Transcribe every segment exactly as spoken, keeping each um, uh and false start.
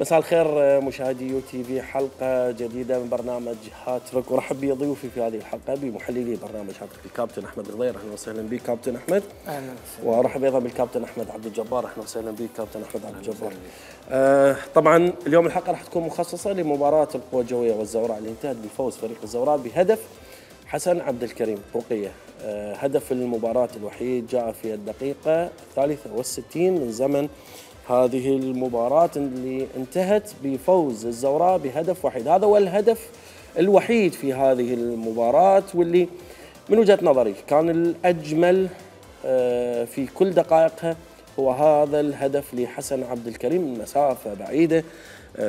مساء الخير مشاهدي يو تي في، حلقة جديدة من برنامج هاتريك، ورحب بضيوفي في هذه الحلقة بمحللي برنامج هاتريك الكابتن أحمد الغضير. أهلا وسهلا بك كابتن أحمد. أهلا وسهلا. وأرحب أيضا بالكابتن أحمد عبد الجبار. أهلا وسهلا بك كابتن أحمد عبد الجبار. آه طبعا اليوم الحلقة راح تكون مخصصة لمباراة القوى الجوية والزوراء اللي انتهت بفوز فريق الزوراء بهدف حسن عبد الكريم رقية. آه هدف المباراة الوحيد جاء في الدقيقة الثالثة والستين من زمن هذه المباراة اللي انتهت بفوز الزوراء بهدف وحيد. هذا هو الهدف الوحيد في هذه المباراة، واللي من وجهة نظري كان الأجمل في كل دقائقها هو هذا الهدف لحسن عبد الكريم من مسافة بعيدة.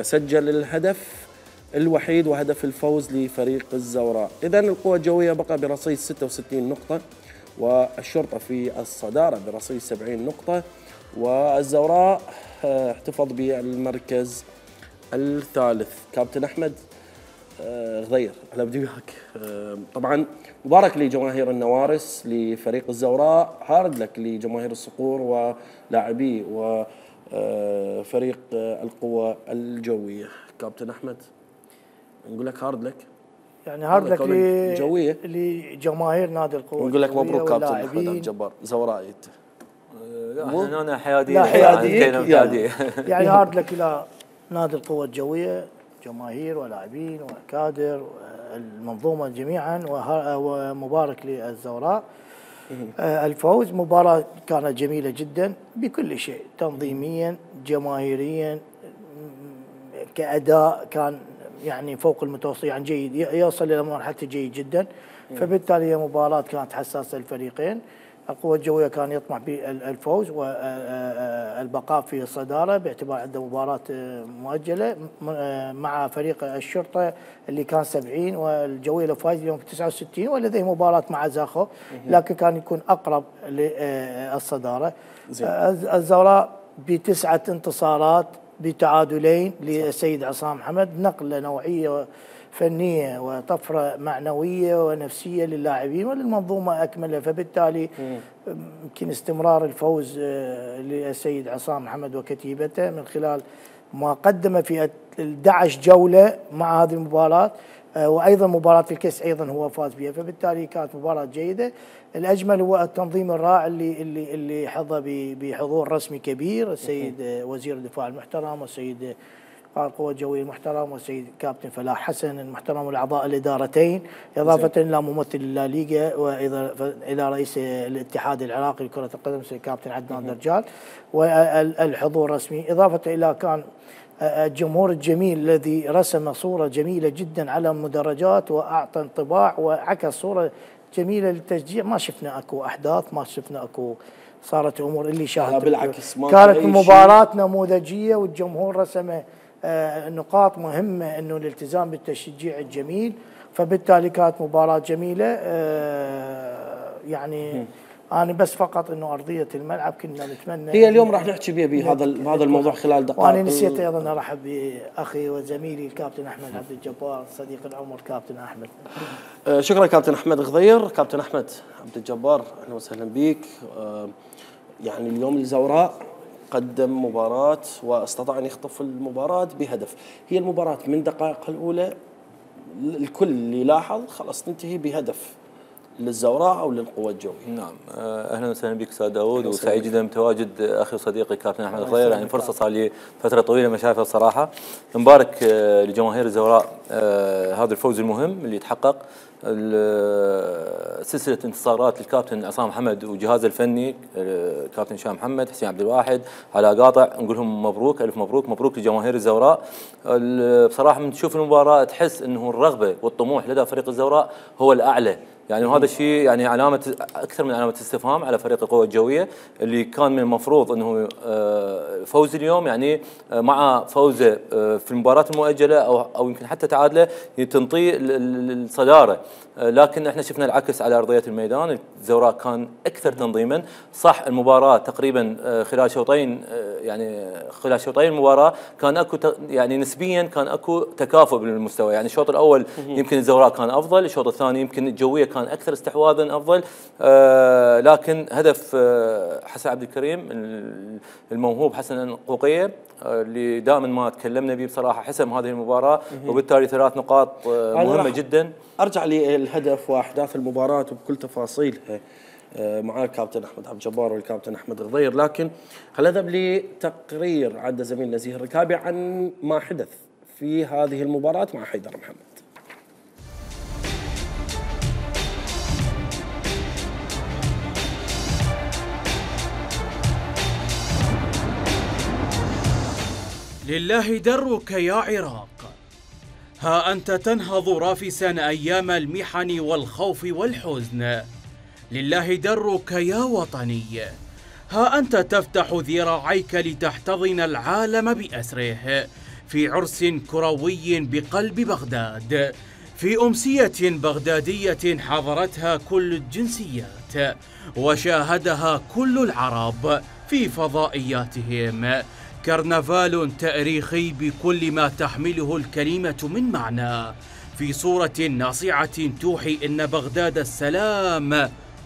سجل الهدف الوحيد وهدف الفوز لفريق الزوراء. إذن القوى الجوية بقى برصيد ستة وستين نقطة، والشرطة في الصدارة برصيد سبعين نقطة، والزوراء احتفظ بالمركز الثالث. كابتن أحمد غضير، أهلا بدي وياك. طبعا مبارك لجماهير النوارس لفريق الزوراء، هارد لك لجماهير الصقور ولاعبي وفريق القوى الجوية. كابتن أحمد نقول لك هارد لك، يعني هارد لك لجوية لجماهير نادي القوى. نقول لك مبروك كابتن أحمد عبد الجبار. زورائي انت. لا انا حيادي. لا حيادي يعني, يعني هارد لك الى نادي القوى الجويه، جماهير ولاعبين وكادر المنظومه جميعا، ومبارك للزوراء. الفوز مباراه كانت جميله جدا بكل شيء، تنظيميا جماهيريا كاداء كان يعني فوق المتوسط، يعني جيد، يوصل الى مرحله جيد جدا. فبالتالي هي مباراه كانت حساسه للفريقين. القوى الجوية كان يطمح بالفوز والبقاء في الصدارة باعتبار عنده مباراة مؤجلة مع فريق الشرطة اللي كان سبعين، والجوية لو فاز اليوم في تسعة وستين، ولديه مباراة مع زاخو لكن كان يكون أقرب للصدارة. الزوراء بتسعة انتصارات بتعادلين للسيد عصام حمد، نقلة نوعية فنية وطفرة معنوية ونفسية للاعبين وللمنظومة أكملها. فبالتالي يمكن استمرار الفوز للسيد عصام محمد وكتيبته من خلال ما قدم في أحد عشر جولة مع هذه المباراة، وأيضا مباراة الكأس أيضا هو فاز بها. فبالتالي كانت مباراة جيدة. الأجمل هو التنظيم الرائع اللي اللي اللي حظى بحضور رسمي كبير، السيد وزير الدفاع المحترم والسيد القوى الجوية المحترم والسيد كابتن فلاح حسن المحترم والأعضاء الإدارتين، إضافة إلى ممثل الليغا وإضافة إلى رئيس الاتحاد العراقي لكرة القدم السيد كابتن عدنان درجال، والحضور الرسمي، إضافة إلى كان الجمهور الجميل الذي رسم صورة جميلة جدا على المدرجات وأعطى انطباع وعكس صورة جميلة للتشجيع. ما شفنا أكو أحداث، ما شفنا أكو صارت أمور اللي شاهد، بالعكس كانت مباراة نموذجية والجمهور رسم نقاط مهمة انه الالتزام بالتشجيع الجميل. فبالتالي كانت مباراة جميلة. يعني انا بس فقط انه ارضية الملعب كنا نتمنى، هي اليوم راح نحكي بها بهذا بهذا الموضوع خلال دقائق. وانا نسيت ايضا ارحب باخي وزميلي الكابتن احمد عبد الجبار صديق العمر كابتن احمد. شكرا كابتن احمد غضير. كابتن احمد عبد الجبار اهلا وسهلا بك. يعني اليوم الزوراء قدم مباراة واستطاع أن يخطف المباراة بهدف. هي المباراة من دقائقها الأولى الكل اللي لاحظ خلاص تنتهي بهدف للزوراء أو للقوى الجوية. نعم أهلا وسهلا بك أستاذ داوود، وسعيد جدا بتواجد أخي وصديقي كابتن أحمد الغضير. يعني فرصة صار لي فترة طويلة ما شايفها الصراحة. مبارك لجماهير الزوراء هذا الفوز المهم اللي يتحقق، سلسلة انتصارات للكابتن عصام حمد وجهازه الفني كابتن هشام محمد، حسين عبد الواحد، على قاطع، نقول لهم مبروك ألف مبروك. مبروك لجماهير الزوراء. بصراحة من تشوف المباراة تحس أنه الرغبة والطموح لدى فريق الزوراء هو الأعلى، يعني وهذا الشيء يعني علامة أكثر من علامة استفهام على فريق القوى الجوية اللي كان من المفروض أنه فوز اليوم يعني مع فوزه في المباراة المؤجلة أو أو يمكن حتى تعادله تنطي الصدارة، لكن احنا شفنا العكس على أرضية الميدان. الزوراء كان أكثر تنظيما. صح المباراة تقريبا خلال شوطين، يعني خلال شوطين المباراة كان اكو يعني نسبيا كان اكو تكافؤ بالمستوى، يعني الشوط الأول يمكن الزوراء كان أفضل، الشوط الثاني يمكن الجوية كان اكثر استحواذا افضل. آه لكن هدف آه حسن عبد الكريم الموهوب حسن القوقيه آه اللي دائما ما تكلمنا به بصراحه حسم هذه المباراه، وبالتالي ثلاث نقاط آه مهمه جدا. ارجع للهدف واحداث المباراه وبكل تفاصيلها مع الكابتن احمد عبد الجبار والكابتن احمد غضير، لكن خلينا نذهب لتقرير عد زميل نزيه الركابي عن ما حدث في هذه المباراه مع حيدر محمد. لله درك يا عراق، ها أنت تنهض رافسا أيام المحن والخوف والحزن. لله درك يا وطني، ها أنت تفتح ذراعيك لتحتضن العالم بأسره في عرس كروي بقلب بغداد، في أمسية بغدادية حضرتها كل الجنسيات وشاهدها كل العرب في فضائياتهم. كرنفال تاريخي بكل ما تحمله الكلمة من معنى، في صورة ناصعة توحي إن بغداد السلام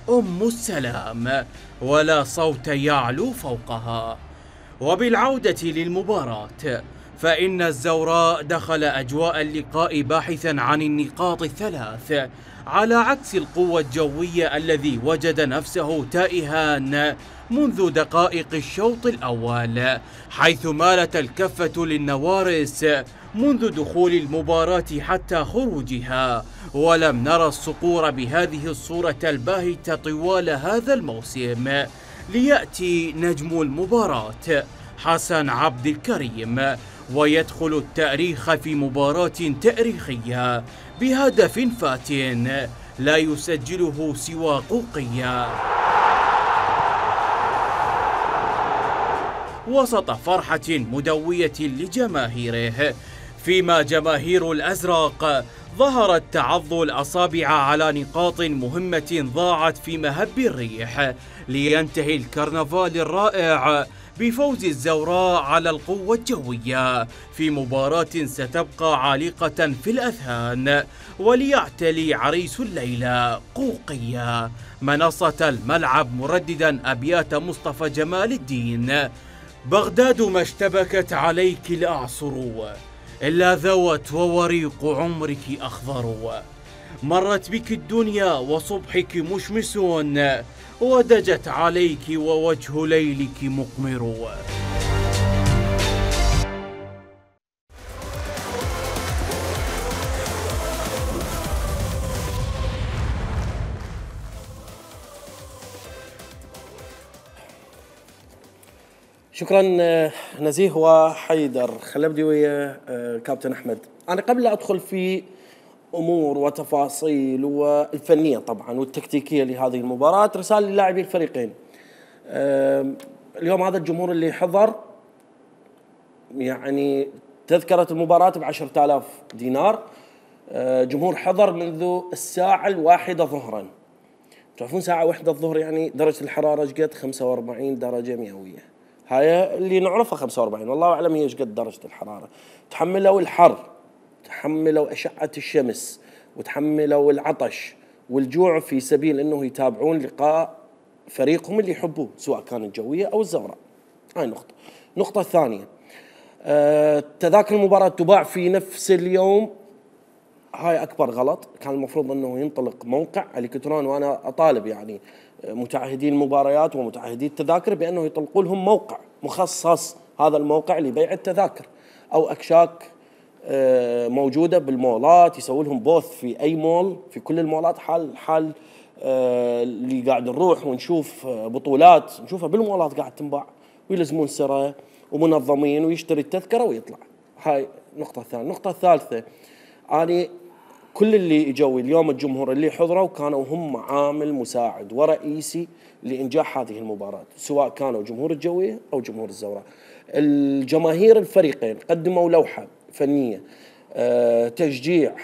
أم السلام ولا صوت يعلو فوقها. وبالعودة للمباراة، فإن الزوراء دخل أجواء اللقاء باحثا عن النقاط الثلاث، على عكس القوة الجوية الذي وجد نفسه تائها منذ دقائق الشوط الأول، حيث مالت الكفة للنوارس منذ دخول المباراة حتى خروجها، ولم نرى الصقور بهذه الصورة الباهتة طوال هذا الموسم، ليأتي نجم المباراة حسن عبد الكريم ويدخل التاريخ في مباراة تاريخية بهدف فات لا يسجله سوى قوقية، وسط فرحة مدوية لجماهيره، فيما جماهير الأزرق ظهرت تعض الأصابع على نقاط مهمة ضاعت في مهب الريح، لينتهي الكرنفال الرائع بفوز الزوراء على القوة الجوية في مباراة ستبقى عالقة في الأذهان، وليعتلي عريس الليلة قوقية منصة الملعب مرددا أبيات مصطفى جمال الدين: بغداد ما اشتبكت عليك الأعصر، إلا ذوت ووريق عمرك أخضر، مرت بك الدنيا وصبحك مشمس، ودجت عليك ووجه ليلك مقمر. شكرا نزيه وحيدر. خلينا نبدي ويا كابتن احمد. انا قبل لا ادخل في امور وتفاصيل والفنيه طبعا والتكتيكيه لهذه المباراه، رساله للاعبي الفريقين. اليوم هذا الجمهور اللي حضر يعني تذكره المباراه ب عشرة آلاف دينار، جمهور حضر منذ الساعه الواحده ظهرا. تعرفون ساعه واحدة الظهر يعني درجه الحراره ايش قد؟ خمسة وأربعين درجه مئويه. هاي اللي نعرفها خمسة وأربعين، والله اعلم هي ايش قد درجه الحراره. تحملوا الحر، تحملوا اشعه الشمس، وتحملوا العطش والجوع في سبيل انه يتابعون لقاء فريقهم اللي يحبوه، سواء كان الجويه او الزوراء. هاي نقطه. النقطه الثانيه، أه تذاكر المباراه تباع في نفس اليوم. هاي اكبر غلط. كان المفروض انه ينطلق موقع الكتروني، وانا اطالب يعني متعهدين المباريات ومتعهدي التذاكر بانه يطلقوا لهم موقع مخصص، هذا الموقع لبيع التذاكر، او اكشاك موجوده بالمولات يسوي لهم بوث في اي مول، في كل المولات، حال حال اللي قاعد نروح ونشوف بطولات نشوفها بالمولات قاعد تنباع، ويلزمون سره ومنظمين ويشتري التذكره ويطلع. هاي النقطه الثانيه. النقطه الثالثه، أنا كل اللي اجوا اليوم الجمهور اللي حضروا كانوا هم عامل مساعد ورئيسي لإنجاح هذه المباراة، سواء كانوا جمهور الجوية أو جمهور الزوراء. الجماهير الفريقين قدموا لوحة فنية، أه تشجيع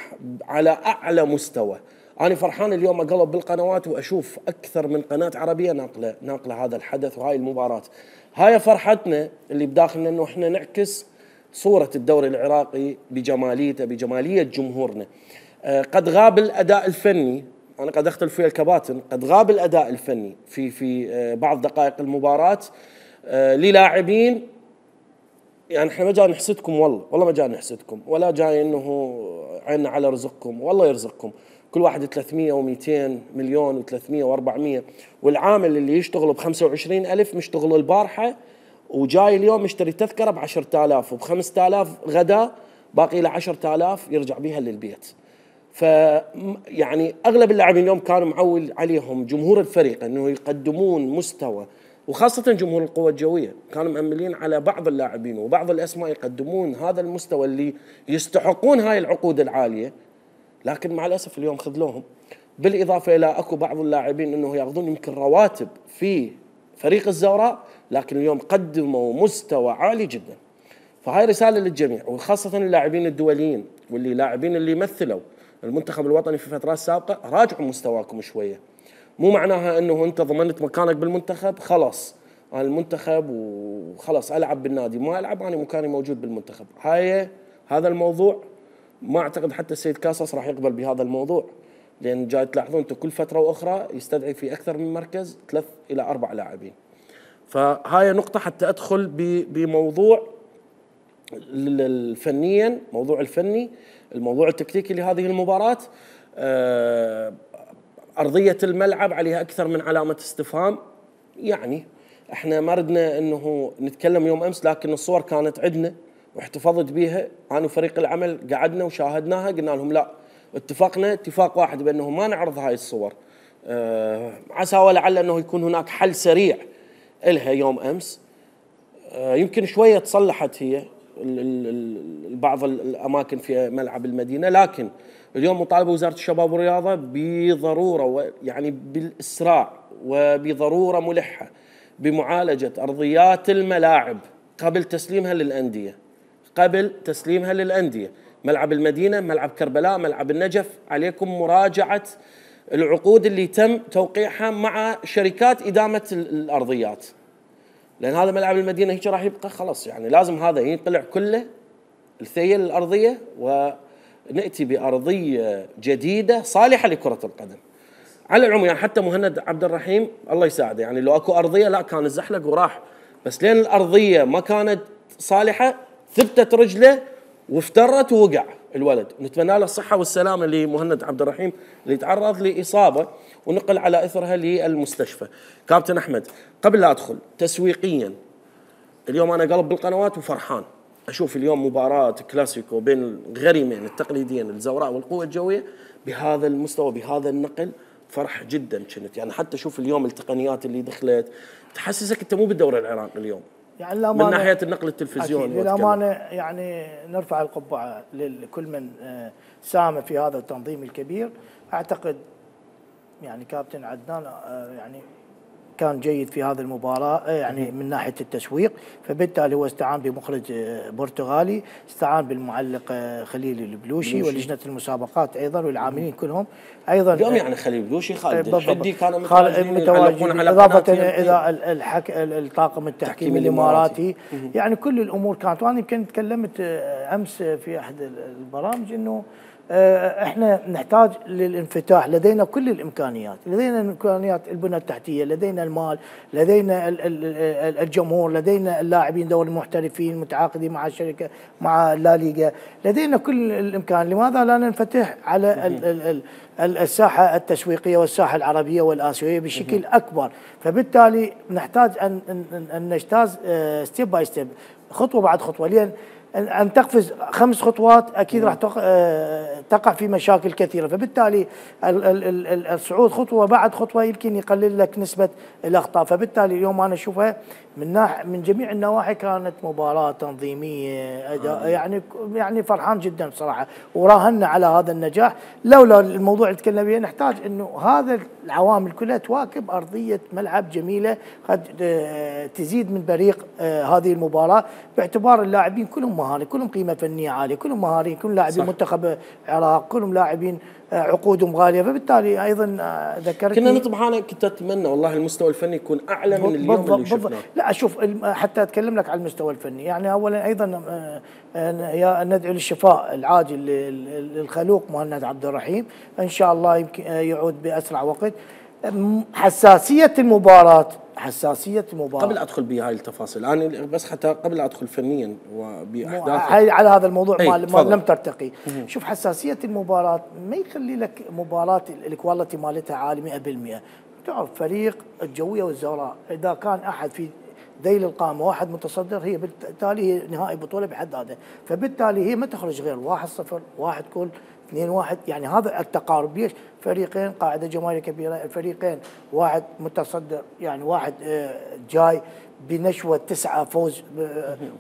على أعلى مستوى. أنا فرحان اليوم أقلب بالقنوات وأشوف أكثر من قناة عربية ناقلة ناقلة هذا الحدث وهاي المباراة. هاي فرحتنا اللي بداخلنا إنه إحنا نعكس صورة الدوري العراقي بجماليته، بجمالية جمهورنا. قد غاب الأداء الفني انا قد اختلف فيها الكباتن، قد غاب الاداء الفني في في بعض دقائق المباراه للاعبين. يعني احنا ما جاي نحسدكم، والله والله ما جاي نحسدكم، ولا جاي انه عيننا على رزقكم، والله يرزقكم كل واحد ثلاثمية ومئتين مليون وثلاثمية وأربعمية، والعامل اللي يشتغل ب خمسة وعشرين ألف مشتغل البارحه وجاي اليوم يشتري تذكره ب عشرة آلاف وب خمسة آلاف غدا، باقي له عشرة آلاف يرجع بيها للبيت. ف يعني اغلب اللاعبين اليوم كانوا معول عليهم جمهور الفريق انه يقدمون مستوى، وخاصه جمهور القوى الجويه كانوا مأملين على بعض اللاعبين وبعض الاسماء يقدمون هذا المستوى اللي يستحقون هاي العقود العاليه، لكن مع الاسف اليوم خذلوهم. بالاضافه الى اكو بعض اللاعبين انه ياخذون يمكن رواتب في فريق الزوراء، لكن اليوم قدموا مستوى عالي جدا. فهاي رساله للجميع، وخاصه اللاعبين الدوليين واللي لاعبين اللي مثلوا المنتخب الوطني في فترات سابقه، راجعوا مستواكم شويه. مو معناها انه انت ضمنت مكانك بالمنتخب خلاص انا المنتخب وخلاص العب بالنادي، ما العب انا مكاني موجود بالمنتخب. هاي هذا الموضوع ما اعتقد حتى السيد كاسس راح يقبل بهذا الموضوع، لان جاي تلاحظون انتم كل فتره واخرى يستدعي في اكثر من مركز ثلاث الى اربع لاعبين. فهاي نقطه حتى ادخل بموضوع الفنيا، موضوع الفني، الموضوع التكتيكي لهذه المباراة. أرضية الملعب عليها أكثر من علامة استفهام. يعني احنا ما ردنا انه نتكلم يوم امس، لكن الصور كانت عندنا واحتفظت بها انا وفريق العمل، قعدنا وشاهدناها، قلنا لهم لا، اتفقنا اتفاق واحد بانه ما نعرض هاي الصور. أه عسى ولعل انه يكون هناك حل سريع لها يوم امس. أه يمكن شويه تصلحت هي بعض الاماكن في ملعب المدينه، لكن اليوم مطالبه وزاره الشباب والرياضه بضروره، يعني بالاسراع وبضروره ملحه بمعالجه ارضيات الملاعب قبل تسليمها للانديه، قبل تسليمها للانديه. ملعب المدينه، ملعب كربلاء، ملعب النجف، عليكم مراجعه العقود اللي تم توقيعها مع شركات ادامه الارضيات، لان هذا ملعب المدينه هيك راح يبقى خلاص، يعني لازم هذا ينقلع كله الثيل الارضيه وناتي بارضيه جديده صالحه لكره القدم. على العموم يعني حتى مهند عبد الرحيم الله يساعده، يعني لو اكو ارضيه لا كان زحلق وراح، بس لين الارضيه ما كانت صالحه ثبتت رجله وافترت ووقع الولد. نتمنى له الصحه والسلامه لمهند عبد الرحيم اللي تعرض لاصابه ونقل على اثرها للمستشفى. كابتن احمد، قبل لا ادخل تسويقيا، اليوم انا قلب بالقنوات وفرحان اشوف اليوم مباراه كلاسيكو بين الغريمين التقليديين الزوراء والقوه الجويه بهذا المستوى بهذا النقل. فرح جدا كنت، يعني حتى شوف اليوم التقنيات اللي دخلت تحسسك انت مو بالدوري العراقي اليوم، يعني من ناحيه النقل التلفزيوني. للامانه يعني نرفع القبعه لكل من ساهم في هذا التنظيم الكبير. اعتقد يعني كابتن عدنان يعني كان جيد في هذه المباراة يعني من ناحية التسويق، فبالتالي هو استعان بمخرج برتغالي، استعان بالمعلق خليل البلوشي ولجنة المسابقات أيضا والعاملين كلهم أيضا. اليوم يعني خليل البلوشي، خالد الحدي كانوا متواجدين، إضافة إلى الحك... الطاقم التحكيمي الإماراتي. يعني كل الأمور كانت، وأنا يمكن تكلمت أمس في أحد البرامج إنه احنا نحتاج للانفتاح، لدينا كل الامكانيات، لدينا امكانيات البنى التحتيه، لدينا المال، لدينا الجمهور، لدينا اللاعبين دوري المحترفين متعاقدين مع الشركه مع لا ليغا، لدينا كل الامكان، لماذا لا ننفتح على الساحه التسويقيه والساحه العربيه والاسيويه بشكل اكبر؟ فبالتالي نحتاج ان ان نجتاز ستيب باي ستيب، خطوه بعد خطوه، لان أن تقفز خمس خطوات أكيد راح تقع في مشاكل كثيرة. فبالتالي الصعود خطوة بعد خطوة يمكن يقلل لك نسبة الأخطاء. فبالتالي اليوم أنا أشوفها من ناحية من جميع النواحي كانت مباراة تنظيمية أداء، يعني يعني فرحان جدا بصراحة، وراهنا على هذا النجاح. لولا الموضوع اللي تكلمنا فيه نحتاج إنه هذا العوامل كلها تواكب ارضيه ملعب جميله قد تزيد من بريق هذه المباراه، باعتبار اللاعبين كلهم مهاري، كلهم قيمه فنيه عاليه، كلهم مهاريين، كلهم لاعبين منتخب العراق، كلهم لاعبين عقودهم غاليه، فبالتالي ايضا ذكرت كنا نطمح، انا كنت اتمنى والله المستوى الفني يكون اعلى من اليوم اللي شفناه. لا اشوف حتى اتكلم لك على المستوى الفني، يعني اولا ايضا ندعو للشفاء العاجل للخلوق مهند عبد الرحيم، ان شاء الله يمكن يعود باسرع وقت. حساسيه المباراه حساسيه المباراه قبل ادخل بهاي التفاصيل، انا بس حتى قبل ادخل فنيا وباحداث هاي على هذا الموضوع ما تفضل. لم ترتقي. مم. شوف حساسيه المباراه ما يخلي لك مباراه الكواليتي مالتها عالي مئة بالمئة. تعرف فريق الجويه والزوراء اذا كان احد في ذيل القامه واحد متصدر، هي بالتالي هي نهائي بطوله بحد ذاته، فبالتالي هي ما تخرج غير واحد صفر واحد كل اثنين واحد، يعني هذا التقارب. ليش؟ فريقين قاعده جماهيريه كبيره، الفريقين واحد متصدر، يعني واحد جاي بنشوه تسعه فوز،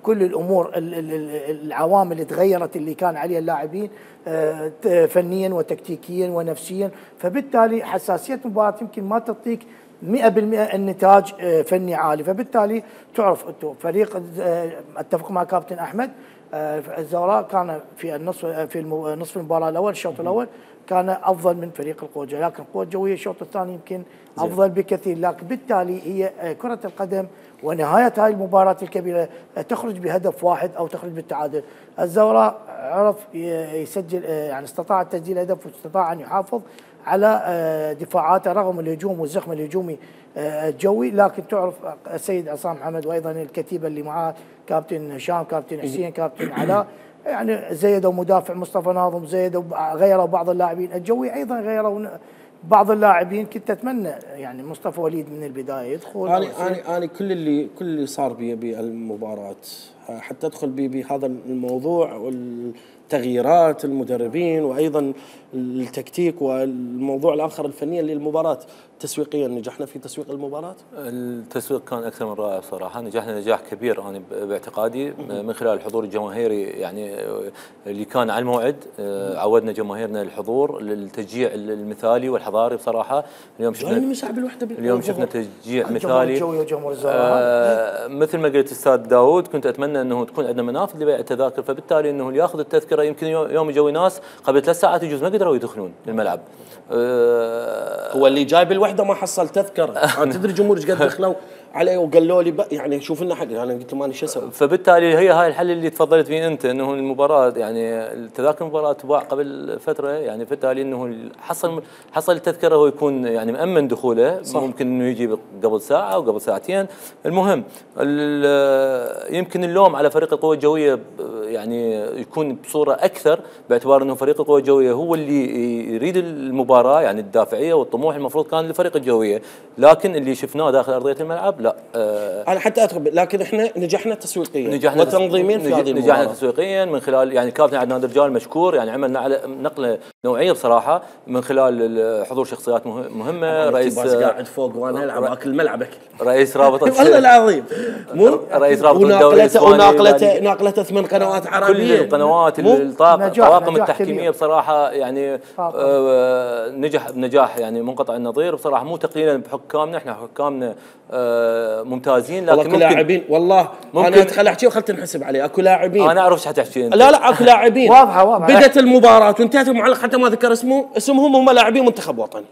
كل الامور العوامل اللي تغيرت اللي كان عليها اللاعبين فنيا وتكتيكيا ونفسيا، فبالتالي حساسيه المباراه يمكن ما تعطيك مئة بالمئة النتاج فني عالي، فبالتالي تعرف انتم فريق، اتفق مع كابتن احمد، الزوراء كان في النصف في نصف المباراه الاول الشوط الاول كان افضل من فريق القوى الجويه، لكن القوى الجويه الشوط الثاني يمكن افضل بكثير، لكن بالتالي هي كره القدم ونهايه هاي المباراه الكبيره تخرج بهدف واحد او تخرج بالتعادل. الزوراء عرف يسجل، يعني استطاع تسجيل هدف واستطاع ان يحافظ على دفاعاته رغم الهجوم والزخم الهجومي الجوي، لكن تعرف السيد عصام محمد وايضا الكتيبه اللي معاه كابتن هشام، كابتن حسين، كابتن علاء، يعني زيدوا مدافع مصطفى ناظم، زيدوا غيروا بعض اللاعبين، الجوي ايضا غيروا بعض اللاعبين. كنت اتمنى يعني مصطفى وليد من البدايه يدخل. انا انا انا كل اللي كل اللي صار بي بالمباراه حتى ادخل بي بهذا الموضوع والتغييرات المدربين وايضا التكتيك والموضوع الاخر الفني للمباراه. تسويقيا نجحنا في تسويق المباراه؟ التسويق كان اكثر من رائع صراحه، نجحنا نجاح كبير انا باعتقادي من خلال الحضور الجماهيري يعني اللي كان على الموعد. عودنا جماهيرنا الحضور للتشجيع المثالي والحضاري بصراحه. اليوم شفنا اليوم شفنا تشجيع مثالي آه مثل ما قلت استاذ داوود، كنت اتمنى انه تكون عندنا منافذ لبيع التذاكر، فبالتالي انه اللي ياخذ التذكره يمكن يوم يجوا ناس قبل ثلاث ساعات يجوز ما قدروا يدخلون الملعب. آه هو اللي جاي بالوحده ما حصل تذكره. تدري الجمهور ايش قد دخلوا علي وقالوا لي يعني شوف لنا حق، انا قلت لهم انا شو اسوي؟ فبالتالي هي هاي الحل اللي تفضلت فيه انت، انه المباراه يعني التذاكر المباراه تباع قبل فتره، يعني بالتالي انه حصل حصل التذكره هو يكون يعني مامن دخوله. صح. ممكن انه يجي قبل ساعه او قبل ساعتين. المهم يمكن اللوم على فريق القوى الجويه يعني يكون بصوره اكثر، باعتبار انه فريق القوى الجويه هو اللي يريد المباراه، يعني الدافعيه والطموح المفروض كان لفريق الجويه، لكن اللي شفناه داخل ارضيه الملعب لا. آه انا حتى ادخل، لكن احنا نجحنا تسويقيا نجحنا وتنظيميا في هذه المباراه. نجحنا تسويقيا من خلال يعني كابتن عدنان درجال مشكور، يعني عمل نقله نوعيه بصراحه من خلال حضور شخصيات مهمه. رئيس قاعد فوق وانا العب اكل ملعبك، رئيس رابطه والله العظيم مو رئيس رابطه الدوري الاسباني، وناقلته ناقلته ثمان قنوات عربيه، كل القنوات الطواقم التحكيميه بصراحه يعني آه نجح بنجاح يعني منقطع النظير بصراحه، مو تقليلا بحكامنا، احنا حكامنا آه ممتازين، لكن اكو لاعبين والله انا ادخل احكي وخلت نحسب عليه. اكو لاعبين انا اعرف ايش حتحكي انت. لا لا اكو لاعبين واضحه واضحه بدت المباراه وانتهت المعلق حتى ما ذكر اسمه اسمهم هم لاعبين منتخب وطني.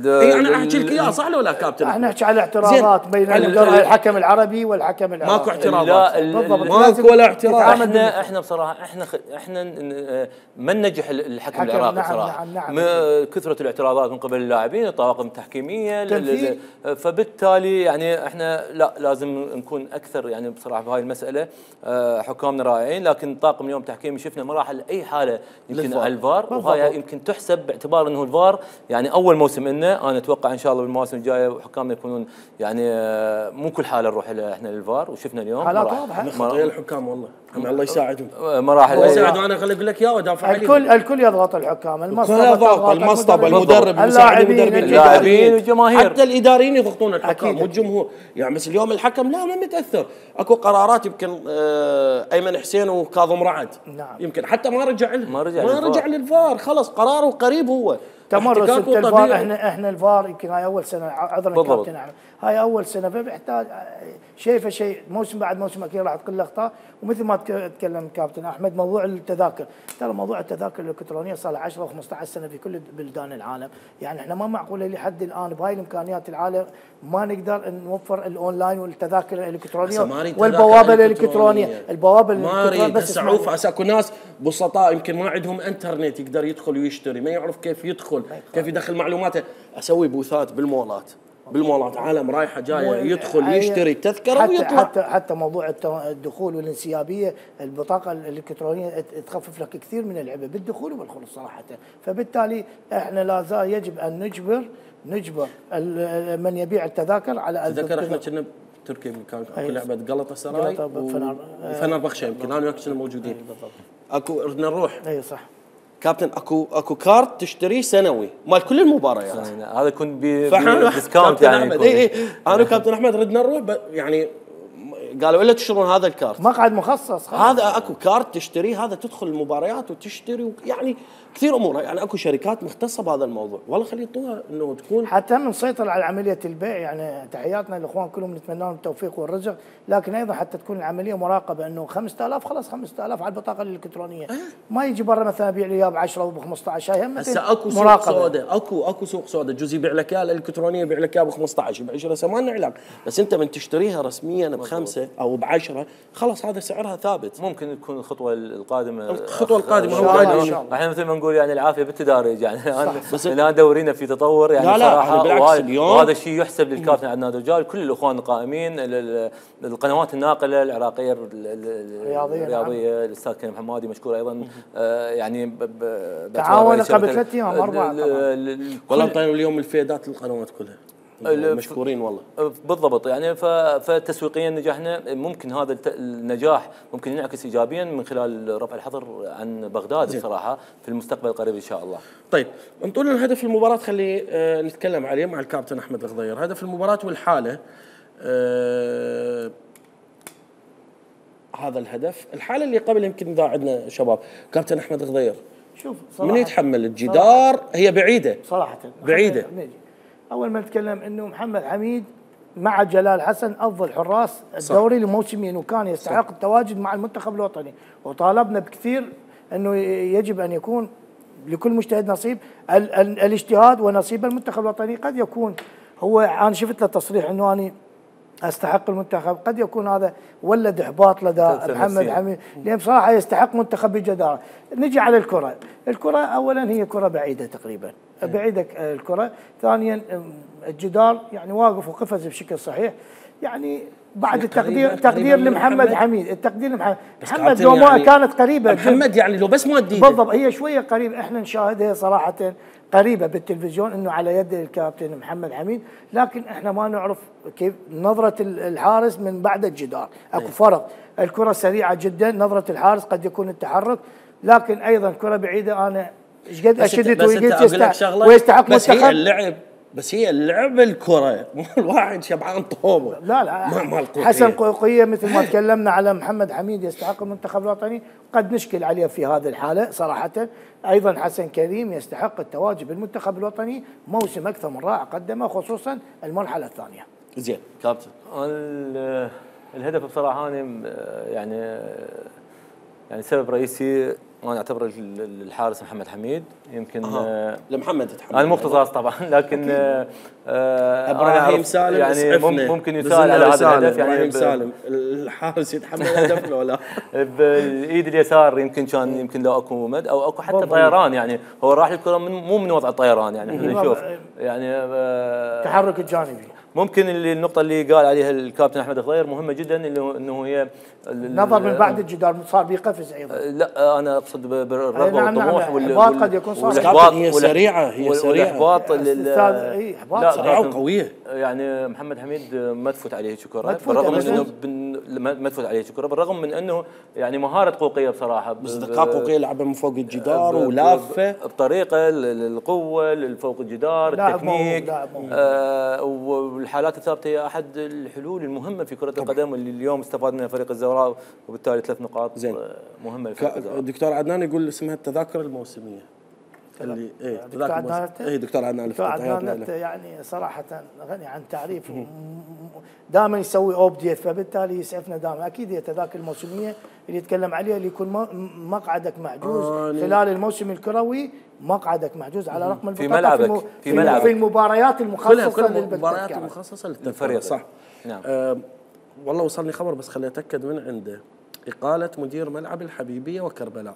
اي انا احكي لك اياها صح ولا كابتن؟ احنا نحكي على اعتراضات بين الحكم العربي والحكم العراقي. ماكو اعتراضات، بالضبط ماكو ولا اعتراض. احنا احنا بصراحه احنا احنا ما ننجح الحكم العراقي نعم بصراحه. نعم نعم. كثره الاعتراضات من قبل اللاعبين، الطواقم التحكيميه، فبالتالي يعني احنا لا لازم نكون اكثر يعني بصراحه بهاي المساله. حكامنا رائعين، لكن الطاقم اليوم تحكيمي شفنا مراحل اي حاله يمكن على الفار، وهاي يمكن تحسب باعتبار انه الفار يعني اول موسم لنا. انا اتوقع ان شاء الله بالمواسم الجايه حكامنا يكونون يعني مو كل حاله نروح احنا للفار، وشفنا اليوم حالات واضحه خطيه الحكام والله الله يساعدهم. مراحل الله يساعدهم. انا خليني اقول لك يا ودافع عليهم. الكل الكل يضغط الحكام، المصطبه يضغط، المصطبه، المدرب، اللاعبين، اللاعبين والجماهير، حتى الاداريين يضغطون الحكام والجمهور. يعني بس اليوم الحكم لا ما متاثر، اكو قرارات يمكن آه ايمن حسين وكاظم رعد نعم. يمكن حتى ما رجع لهم، ما رجع ما رجع للفار، خلص قراره قريب هو تمرس الفار. احنا احنا الفار يمكن هاي اول سنه، عذرا كابتن احمد، هاي اول سنه فبيحتاج شيء فشيء، موسم بعد موسم اكيد راح تقل اخطاء. ومثل ما تكلم كابتن احمد موضوع التذاكر، ترى موضوع التذاكر الالكترونيه صار له عشرة وخمسة عشر سنه في كل بلدان العالم، يعني احنا ما معقوله لحد الان بهاي الامكانيات العاليه ما نقدر نوفر الاونلاين والتذاكر الالكترونيه والبوابه الالكترونيه، البوابه الالكترونيه بس عوف اسا اكو ناس بسطاء يمكن ما عندهم انترنت يقدر يدخل ويشتري، ما يعرف كيف يدخل، كيف يدخل معلوماته. اسوي بوثات بالمولات، بالمولات عالم رايحه جايه يدخل يشتري تذكره حتى ويطلع. حتى حتى موضوع الدخول والانسيابيه، البطاقه الالكترونيه تخفف لك كثير من العبء بالدخول والخروج صراحه. فبالتالي احنا لا زال يجب ان نجبر نجبر من يبيع التذاكر على تذكر احنا كنا بتركيا كان اكو لعبه قلطه سراي وفنر بخشه، يمكن انا وياك كنا موجودين. اكو ردنا نروح. اي صح كابتن، اكو اكو كارت تشتريه سنوي مال كل المباريات. هذا يكون بديسكاونت يعني. اي اي انا وكابتن احمد ردنا نروح يعني قالوا الا تشترون هذا الكارت، مقعد مخصص. هذا اكو كارت تشتريه، هذا تدخل المباريات وتشتري يعني كثير امور. يعني اكو شركات مختصه بهذا الموضوع، والله خلي يعطوها انه تكون حتى من نسيطر على عمليه البيع. يعني تحياتنا للاخوان كلهم، نتمنى لهم التوفيق والرزق، لكن ايضا حتى تكون العمليه مراقبه، انه خمسة آلاف خلاص خمسة آلاف على البطاقه الالكترونيه، ما يجي برا مثلا ابيع لي اياه ب عشرة وب خمسة عشر. هاي هم هسه اكو سوق سوداء، اكو اكو سوق سوداء، جزء يبيع لك اياها الالكترونيه يبيع لك اياها ب خمسة عشر ب عشرة، ما لنا علاقه. بس انت من تشتريها رسميا بخمسه او بعشرة خلاص هذا سعرها ثابت. ممكن تكون الخطوه القادمه الخطوه القادمه هو احنا مثل ما نقول يعني العافيه بالتدارج يعني. بس الان دورينا في تطور يعني لا لا صراحه، بالعكس اليوم وهذا الشيء يحسب للكابتن عدنان الرجال، كل الاخوان القائمين، القنوات الناقله العراقيه الرياضيه، الاستاذ كريم حمادي مشكور ايضا، يعني تعاون قبل ثلاث ايام اربعه. والله طيب اليوم الفيدات للقنوات كلها مشكورين والله. بالضبط يعني. فتسويقيا نجحنا، ممكن هذا النجاح ممكن ينعكس ايجابيا من خلال رفع الحظر عن بغداد بصراحه في المستقبل القريب ان شاء الله. طيب انطونا الهدف المباراه، خلي آه نتكلم عليه مع الكابتن احمد الغضير. هدف المباراه والحاله، آه هذا الهدف، الحاله اللي قبل يمكن اذا عندنا شباب. كابتن احمد الغضير، شوف من يتحمل الجدار؟ هي بعيده صراحه بعيده. اول ما نتكلم انه محمد حميد مع جلال حسن افضل حراس الدوري لموسمين، وكان يستحق التواجد مع المنتخب الوطني، وطالبنا بكثير انه يجب ان يكون لكل مجتهد نصيب ال ال الاجتهاد ونصيب المنتخب الوطني. قد يكون هو، انا شفت له تصريح انه انا استحق المنتخب، قد يكون هذا ولد احباط لدى محمد حميد، لان بصراحه يستحق منتخب بجداره. نجي على الكره، الكره اولا هي كره بعيده تقريبا، بعيده الكره، ثانيا الجدار يعني واقف وقفز بشكل صحيح. يعني بعد التقدير تقدير لمحمد حميد، التقدير لمحمد محمد لو ما يعني كانت قريبه محمد يعني لو بس ما اديته بالضبط، هي شويه قريبه، احنا نشاهدها صراحه قريبه بالتلفزيون انه على يد الكابتن محمد حميد، لكن احنا ما نعرف كيف نظره الحارس من بعد الجدار، اكو فرق. الكره سريعه جدا، نظره الحارس قد يكون التحرك، لكن ايضا كره بعيده. انا ايش قد اشدت وقلت يستحق ويستحق بس هي اللعب بس هي اللعب الكره مو الواحد شبعان طوبه. لا لا حسن قوقيه مثل ما تكلمنا على محمد حميد يستحق المنتخب الوطني، قد نشكل عليه في هذه الحاله صراحه. ايضا حسن كريم يستحق التواجد بالمنتخب الوطني، موسم اكثر من رائع قدمه، خصوصا المرحله الثانيه. زين كابتن، الهدف بصراحه انا يعني يعني سبب رئيسي وانا اعتبر الحارس محمد حميد. يمكن آه. لمحمد يتحمل انا مو اختصاص طبعا، لكن آه ابراهيم سالم يعني ممكن يسال على هذا الهدف. يعني ابراهيم سالم الحارس يتحمل الهدف لو لا بالايد اليسار يمكن كان يمكن لو اكو مد او اكو حتى طيران، يعني هو راح الكره من مو من وضع الطيران، يعني احنا نشوف يعني آه التحرك الجانبي. ممكن اللي النقطه اللي قال عليها الكابتن احمد الغضير مهمه جدا، اللي انه هي النظر من بعد الجدار صار بيقفز ايضا. لا انا اقصد بالرغبه نعم والطموح والاحباط قد يكون صار. والاحباط هي سريعه هي سريعه والاحباط اي احباط سريعه وقويه. يعني محمد حميد ما تفوت عليه هيك كره، بالرغم من انه ما ما تفوت عليه الكره، بالرغم من انه يعني مهاره قوقيه بصراحه، اصدقاء قوقيه لعبها من فوق الجدار ولافه بطريقه القوه فوق الجدار، التكنيك آه والحالات الثابته هي احد الحلول المهمه في كره القدم اللي اليوم استفاد منها فريق الزوراء، وبالتالي ثلاث نقاط زين مهمه لفريق الزوراء. دكتور عدنان يقول اسمها التذاكر الموسميه اللي ايه دكتور عدنان اي دكتور عدنان دكتور عدنان يعني صراحه غني عن تعريف، دائما يسوي اوبديت، فبالتالي يسعفنا دائما. اكيد هي التذاكر الموسميه اللي يتكلم عليها اللي يكون مقعدك محجوز آه خلال الموسم الكروي، مقعدك محجوز على رقم البطاقه في ملعبك في, ملعبك. في المباريات المخصصه للمباريات المخصصه للفريق صح. نعم. آه والله وصلني خبر بس خليني اتاكد من عنده، اقاله مدير ملعب الحبيبيه وكربلاء.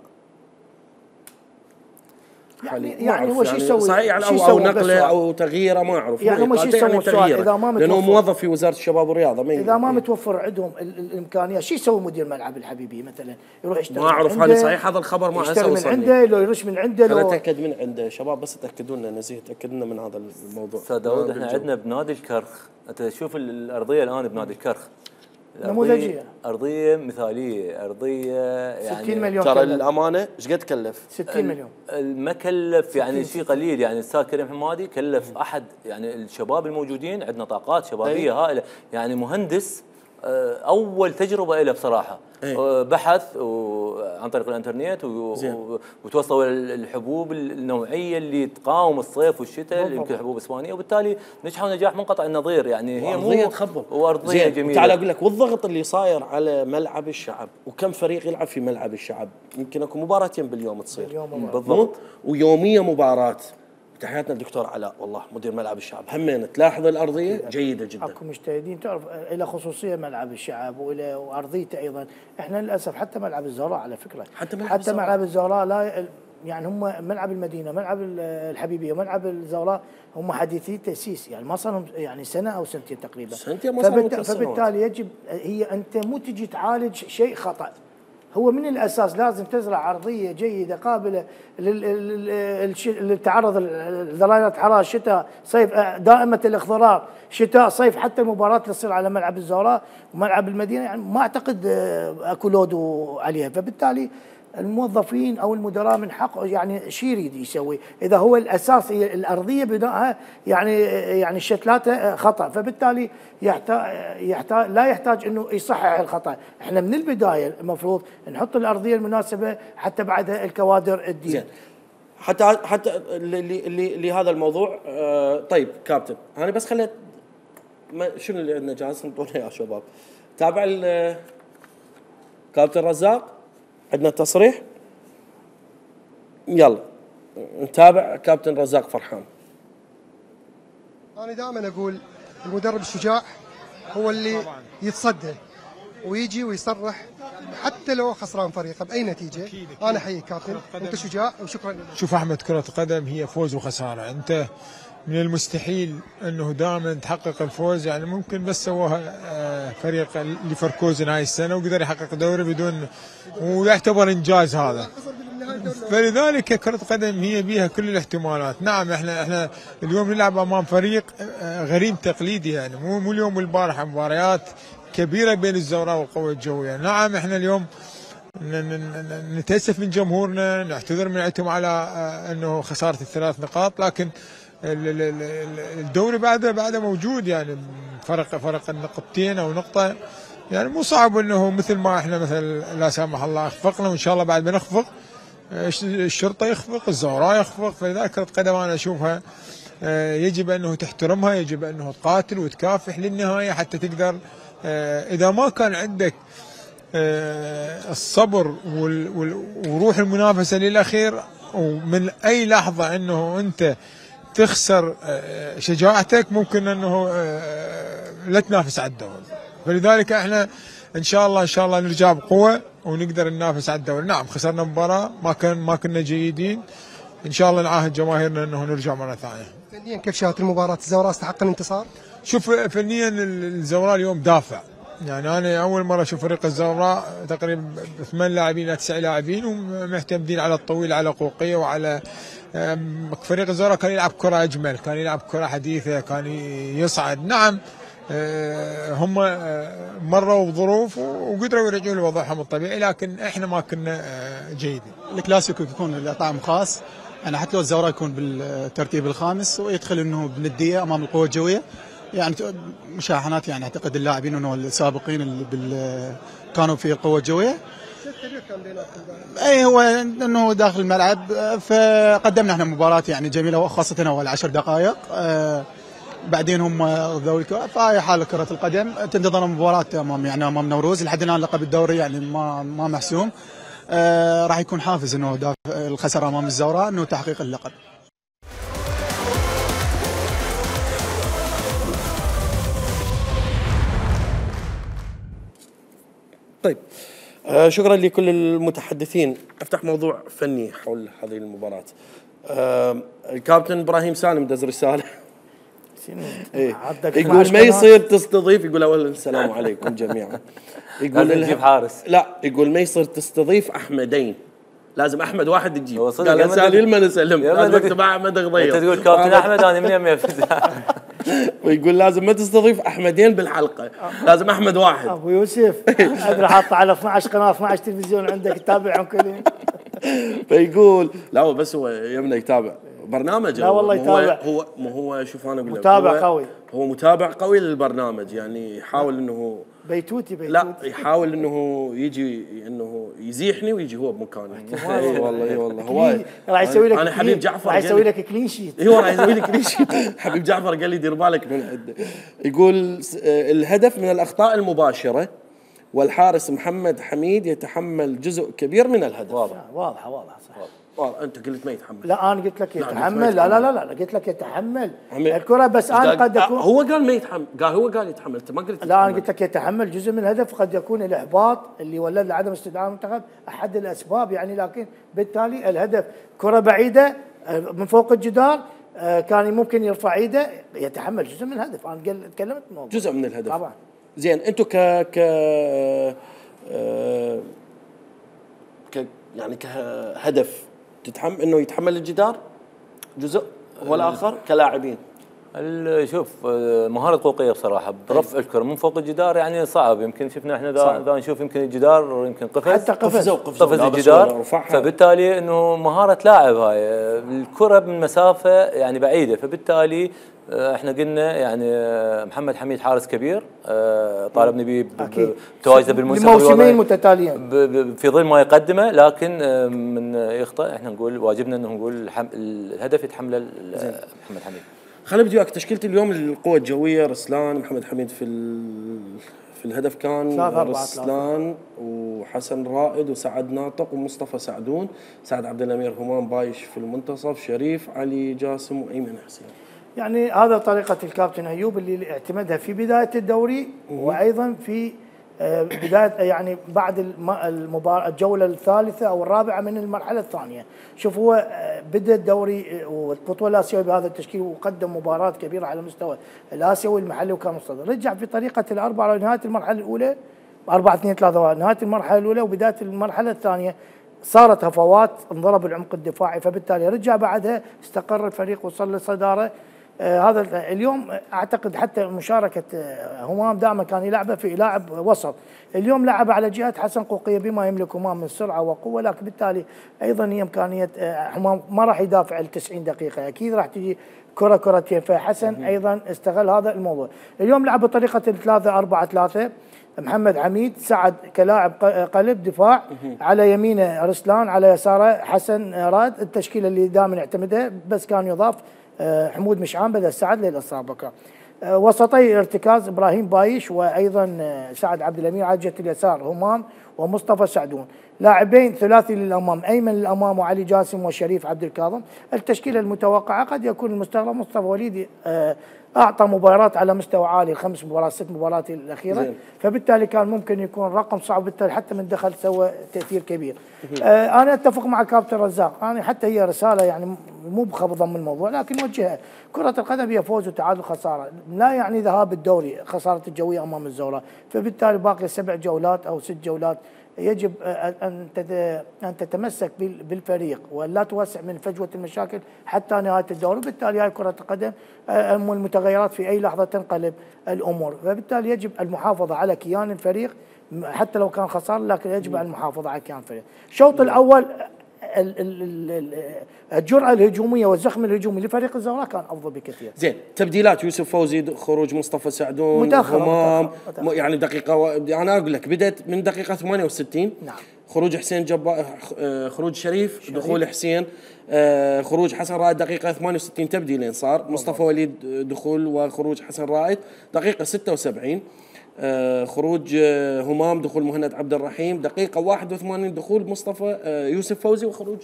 يعني يعني هو شو يسوي؟ صحيح يعني او, أو نقله او تغييره ما اعرف يعني هم شو يسوون اذا ما لانه موظف في وزاره الشباب والرياضه، ما اذا ما متوفر عندهم الامكانيات شو يسوي مدير ملعب الحبيبيه مثلا؟ يروح يشتري ما اعرف هل صحيح هذا الخبر، ما يشتري من عنده لو يرش من عنده لو اتاكد من عنده شباب، بس تاكدوا لنا نزيه تاكد لنا من هذا الموضوع. استاذ داوود احنا عندنا بنادي الكرخ، انت تشوف الارضيه الان بنادي الكرخ نموذجيه، ارضيه مثاليه، ارضيه يعني ستين مليون ترى الامانه ايش قد تكلف؟ ستين مليون. ما كلف يعني شيء قليل، يعني الاستاذ كريم حمادي كلف احد يعني الشباب الموجودين، عندنا طاقات شبابيه هائله، يعني مهندس اول تجربه له بصراحه. أيه. بحث عن طريق الانترنت وتوصلوا الحبوب النوعيه اللي تقاوم الصيف والشتاء، يمكن حبوب اسبانيه، وبالتالي نجحوا نجاح منقطع النظير. يعني هي ارضيه تخبل وارضيه جميله. تعال اقول لك، والضغط اللي صاير على ملعب الشعب، وكم فريق يلعب في ملعب الشعب، يمكن اكو مباراتين باليوم تصير بالضبط، ويوميه مباراه. تحياتنا الدكتور علاء والله مدير ملعب الشعب، همين تلاحظ الارضيه جيده جدا. اكو مجتهدين، تعرف الى خصوصيه ملعب الشعب والى وارضيته ايضا. احنا للاسف حتى ملعب الزهراء على فكره، حتى ملعب حتى الزهراء. ملعب الزهراء لا يعني هم ملعب المدينه، ملعب الحبيبيه وملعب الزهراء هم حديثي تاسيس، يعني ما صار يعني سنه او سنتين تقريبا. سنتين ما صار. فبالتالي يجب هي انت مو تجي تعالج شيء خطا، هو من الاساس لازم تزرع ارضيه جيده قابله للتعرض لدرجات حراره شتاء صيف، دائمه الاخضرار شتاء صيف، حتى المباراه اللي تصير على ملعب الزهراء وملعب المدينه يعني ما اعتقد اكو لود عليها. فبالتالي الموظفين او المدراء من حقه يعني شو يريد يسوي اذا هو الاساس هي الارضيه بنائها يعني يعني الشتلات خطا، فبالتالي يحتاج يحتاج لا يحتاج انه يصحح الخطا. احنا من البدايه المفروض نحط الارضيه المناسبه حتى بعدها الكوادر الدين. حتى حتى لهذا الموضوع. آه طيب كابتن، انا بس خليت شنو اللي عندنا جاهز نطوله يا شباب. تابع كابتن رزاق، عندنا تصريح، يلا نتابع كابتن رزاق فرحان. أنا دائما أقول المدرب الشجاع هو اللي يتصدى ويجي ويصرح حتى لو خسران فريقه بأي نتيجة. أنا أحييك كابتن، أنت شجاع وشكرا. شوف أحمد، كرة القدم هي فوز وخسارة، أنت من المستحيل أنه دائما تحقق الفوز، يعني ممكن بس سووها فريق ليفركوزن هاي السنة وقدر يحقق دوري بدون، ويعتبر إنجاز هذا. فلذلك كرة القدم هي بيها كل الاحتمالات. نعم احنا احنا اليوم نلعب امام فريق غريم تقليدي، يعني مو مو اليوم والبارحة مباريات كبيرة بين الزوراء والقوة الجوية. نعم احنا اليوم نتأسف من جمهورنا، نعتذر من عندهم على انه خسارة الثلاث نقاط، لكن الدوري بعده بعده موجود، يعني فرق فرق النقطتين او نقطة، يعني مو صعب انه مثل ما احنا مثلا لا سامح الله اخفقنا، وان شاء الله بعد ما نخفق الشرطة يخفق، الزوراء يخفق. فلذلك كرة قدم انا اشوفها يجب انه تحترمها، يجب انه تقاتل وتكافح للنهاية حتى تقدر. اذا ما كان عندك الصبر وروح المنافسة للاخير، ومن اي لحظة انه انت تخسر شجاعتك، ممكن انه لا تنافس على الدوري. فلذلك احنا ان شاء الله ان شاء الله نرجع بقوه ونقدر ننافس على الدوري. نعم خسرنا مباراه، ما كان ما كنا جيدين، ان شاء الله نعاهد جماهيرنا انه نرجع مره ثانيه. فنيا كيف شاهدت المباراه؟ الزوراء استحق الانتصار؟ شوف فنيا الزوراء اليوم دافع، يعني انا اول مره اشوف فريق الزوراء تقريبا ثمان لاعبين الى تسع لاعبين ومعتمدين على الطويل، على قوقيه وعلى فريق الزوراء كان يلعب كره اجمل، كان يلعب كره حديثه، كان يصعد. نعم هم مروا بظروف وقدروا يرجعوا لوضعهم الطبيعي، لكن احنا ما كنا جيدين. الكلاسيكو يكون له طعم خاص، يعني حتى لو الزوراء يكون بالترتيب الخامس ويدخل انه بنديه امام القوه الجويه، يعني مشاحنات، يعني اعتقد اللاعبين انه السابقين اللي كانوا في القوه الجويه اي هو انه داخل الملعب، فقدمنا احنا مباراه يعني جميله، وخاصه اول عشر دقائق. آه بعدين هم ذوي فهي حال كره القدم، تنتظر مباراه امام يعني امام نوروز. لحد الان لقب الدوري يعني ما ما محسوم. آه راح يكون حافز انه الخساره امام الزوراء انه تحقيق اللقب. طيب آه شكرا لكل المتحدثين. افتح موضوع فني حول هذه المباراة. آه الكابتن ابراهيم سالم دز رسالة إيه؟ يقول ما يصير تستضيف، يقول اولا السلام عليكم جميعا، يقول تجيب حارس، لا يقول ما يصير تستضيف احمدين، لازم احمد واحد يجيب. قال اسالي لما نسلم لازم اكتب احمد غضير. انت تقول كابتن احمد انا من يم ويقول لازم ما تستضيف احمدين بالحلقه، لازم احمد واحد. ابو يوسف ادري حاطه على اثنعش قناه اثنعش تلفزيون عندك تتابعهم كلهم. فيقول لا هو بس هو يمنا يتابع برنامج. لا والله يتابع. هو مو هو شوف انا اقول لك متابع قوي، هو متابع قوي للبرنامج، يعني يحاول انه بيتوتي بيتوتي لا يحاول انه يجي انه يزيحني ويجي هو بمكاني. اي والله اي والله هو راح يسوي لك، انا حبيب جعفر راح يسوي لك كلين شيت. ايوه راح يسوي لك كلين شيت. حبيب جعفر قال لي دير بالك من عنده. يقول الهدف من الاخطاء المباشره، والحارس محمد حميد يتحمل جزء كبير من الهدف. واضحه واضحه واضحه صح. والله انت قلت ما يتحمل. لا انا قلت لك يتحمل. لا لا لا لا قلت لك يتحمل الكره، بس انا قد اكون هو قال ما يتحمل، قال هو قال يتحمل، انت ما قلت. لا انا قلت لك يتحمل جزء من الهدف، قد يكون الاحباط اللي ولد لعدم استدعاء المنتخب احد الاسباب يعني، لكن بالتالي الهدف كره بعيده من فوق الجدار، كان ممكن يرفع ايده، يتحمل جزء من الهدف. انا تكلمت الموضوع جزء من الهدف طبعا. زين انتم ك ك آه ك يعني كهدف تتحمل انه يتحمل الجدار جزء والاخر كلاعبين. شوف مهارة قوقية بصراحة برفع الكرة من فوق الجدار يعني صعب. يمكن شفنا احنا ذا نشوف يمكن الجدار يمكن قفز حتى قفز قفز الجدار، فبالتالي انه مهارة لاعب هاي. الكرة من مسافة يعني بعيدة، فبالتالي احنا قلنا يعني محمد حميد حارس كبير، طالبنا به بتواجده بالمنتخب لموسمين متتاليين في ظل ما يقدمه، لكن من يخطئ احنا نقول واجبنا انه نقول الهدف يتحمله محمد حميد. خليني بدي وياك تشكيله اليوم للقوة الجوية. رسلان، محمد حميد في في الهدف كان رسلان وحسن رائد وسعد ناطق ومصطفى سعدون، سعد عبد الامير، همام بايش في المنتصف، شريف، علي جاسم وايمن حسين. يعني هذا طريقة الكابتن أيوب اللي اعتمدها في بداية الدوري وأيضا في بداية يعني بعد المباراة الجولة الثالثة أو الرابعة من المرحلة الثانية. شوف هو بدأ الدوري والبطولة الآسيوية بهذا التشكيل وقدم مباراة كبيرة على مستوى الآسيوي والمحلي وكان مصدر. رجع في طريقة الأربعة لنهاية المرحلة الأولى أربعة اثنين ثلاثة نهاية المرحلة الأولى وبداية المرحلة الثانية صارت هفوات، انضرب العمق الدفاعي، فبالتالي رجع بعدها استقر الفريق وصل للصدارة. آه هذا اليوم اعتقد حتى مشاركه آه همام دائما كان يلعبه في لاعب وسط، اليوم لعب على جهه حسن قوقيه بما يملك همام من سرعه وقوه، لكن بالتالي ايضا هي امكانيه آه همام ما راح يدافع ال تسعين دقيقه، اكيد راح تجي كره كرتين، فحسن ايضا استغل هذا الموضوع. اليوم لعب بطريقه ثلاثة أربعة ثلاثة، محمد حميد سعد كلاعب قلب دفاع، على يمينه رسلان، على يساره حسن راد، التشكيله اللي دائما يعتمدها، بس كان يضاف حمود مشعان بدل سعد للاصابه. وسطي ارتكاز ابراهيم بايش وايضا سعد عبد الامير، على جهه اليسار همام ومصطفى سعدون. لاعبين ثلاثي للامام، ايمن للامام وعلي جاسم وشريف عبد الكاظم. التشكيله المتوقعه قد يكون المستغرب مصطفى وليدي اعطى مباراه على مستوى عالي، الخمس مباريات ست مباريات الاخيره زين. فبالتالي كان ممكن يكون رقم صعب، بالتالي حتى من دخل سوى تاثير كبير. آه انا اتفق مع كابتن رزاق، انا حتى هي رساله يعني مو بخفضا من الموضوع لكن وجهها، كره القدم هي فوز وتعادل خساره، لا يعني ذهاب الدوري خساره الجويه امام الزوراء، فبالتالي باقي سبع جولات او ست جولات يجب ان ان تتمسك بالفريق ولا توسع من فجوه المشاكل حتى نهايه الدوري، وبالتالي هاي كره القدم المتغيرات في اي لحظه تنقلب الامور، فبالتالي يجب المحافظه على كيان الفريق حتى لو كان خساره، لكن يجب المحافظه على كيان الفريق. الشوط الاول الجرأة الهجومية والزخم الهجومي لفريق الزوراء كان أفضل بكثير. زين، تبديلات يوسف فوزي، خروج مصطفى سعدون، متأخر همام، متأخر. يعني دقيقة و... أنا أقول لك بدأت من دقيقة ثمانية وستين. نعم. خروج حسين جبار، خروج شريف, شريف. دخول حسين، خروج حسن رائد دقيقة ثمانية وستين، تبديلين صار، مصطفى وليد دخول وخروج حسن رائد دقيقة ستة وسبعين. آه خروج آه همام، دخول مهند عبد الرحيم دقيقة واحد وثمانين، دخول مصطفى آه يوسف فوزي وخروج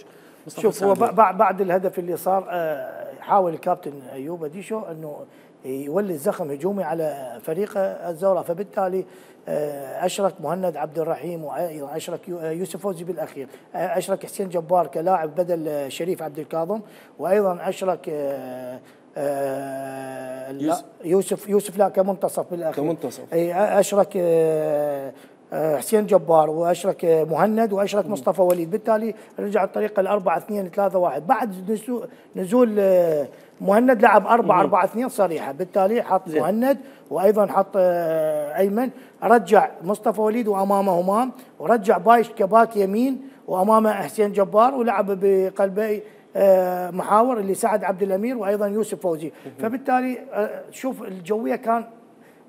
مصطفى شوف سعدون. هو بعد الهدف اللي صار آه حاول الكابتن ايوب اديشو انه يولي زخم هجومي على فريق الزوراء، فبالتالي آه اشرك مهند عبد الرحيم وايضا اشرك يوسف فوزي بالاخير، آه اشرك حسين جبار كلاعب بدل شريف عبد الكاظم، وايضا اشرك آه آه لا يوسف يوسف لا كمنتصف بالاخير كمنتصف اشرك آه حسين جبار واشرك مهند واشرك مصطفى وليد، بالتالي رجع الطريقه ل أربعة اثنين ثلاثة واحد. بعد نزول مهند لعب أربعة أربعة اثنين صريحه، بالتالي حط زي. مهند وايضا حط ايمن، رجع مصطفى وليد وامامه همام، ورجع بايش كباك يمين وامامه حسين جبار، ولعب بقلبي محاور اللي سعد عبد الامير وايضا يوسف فوزي. فبالتالي شوف الجويه كان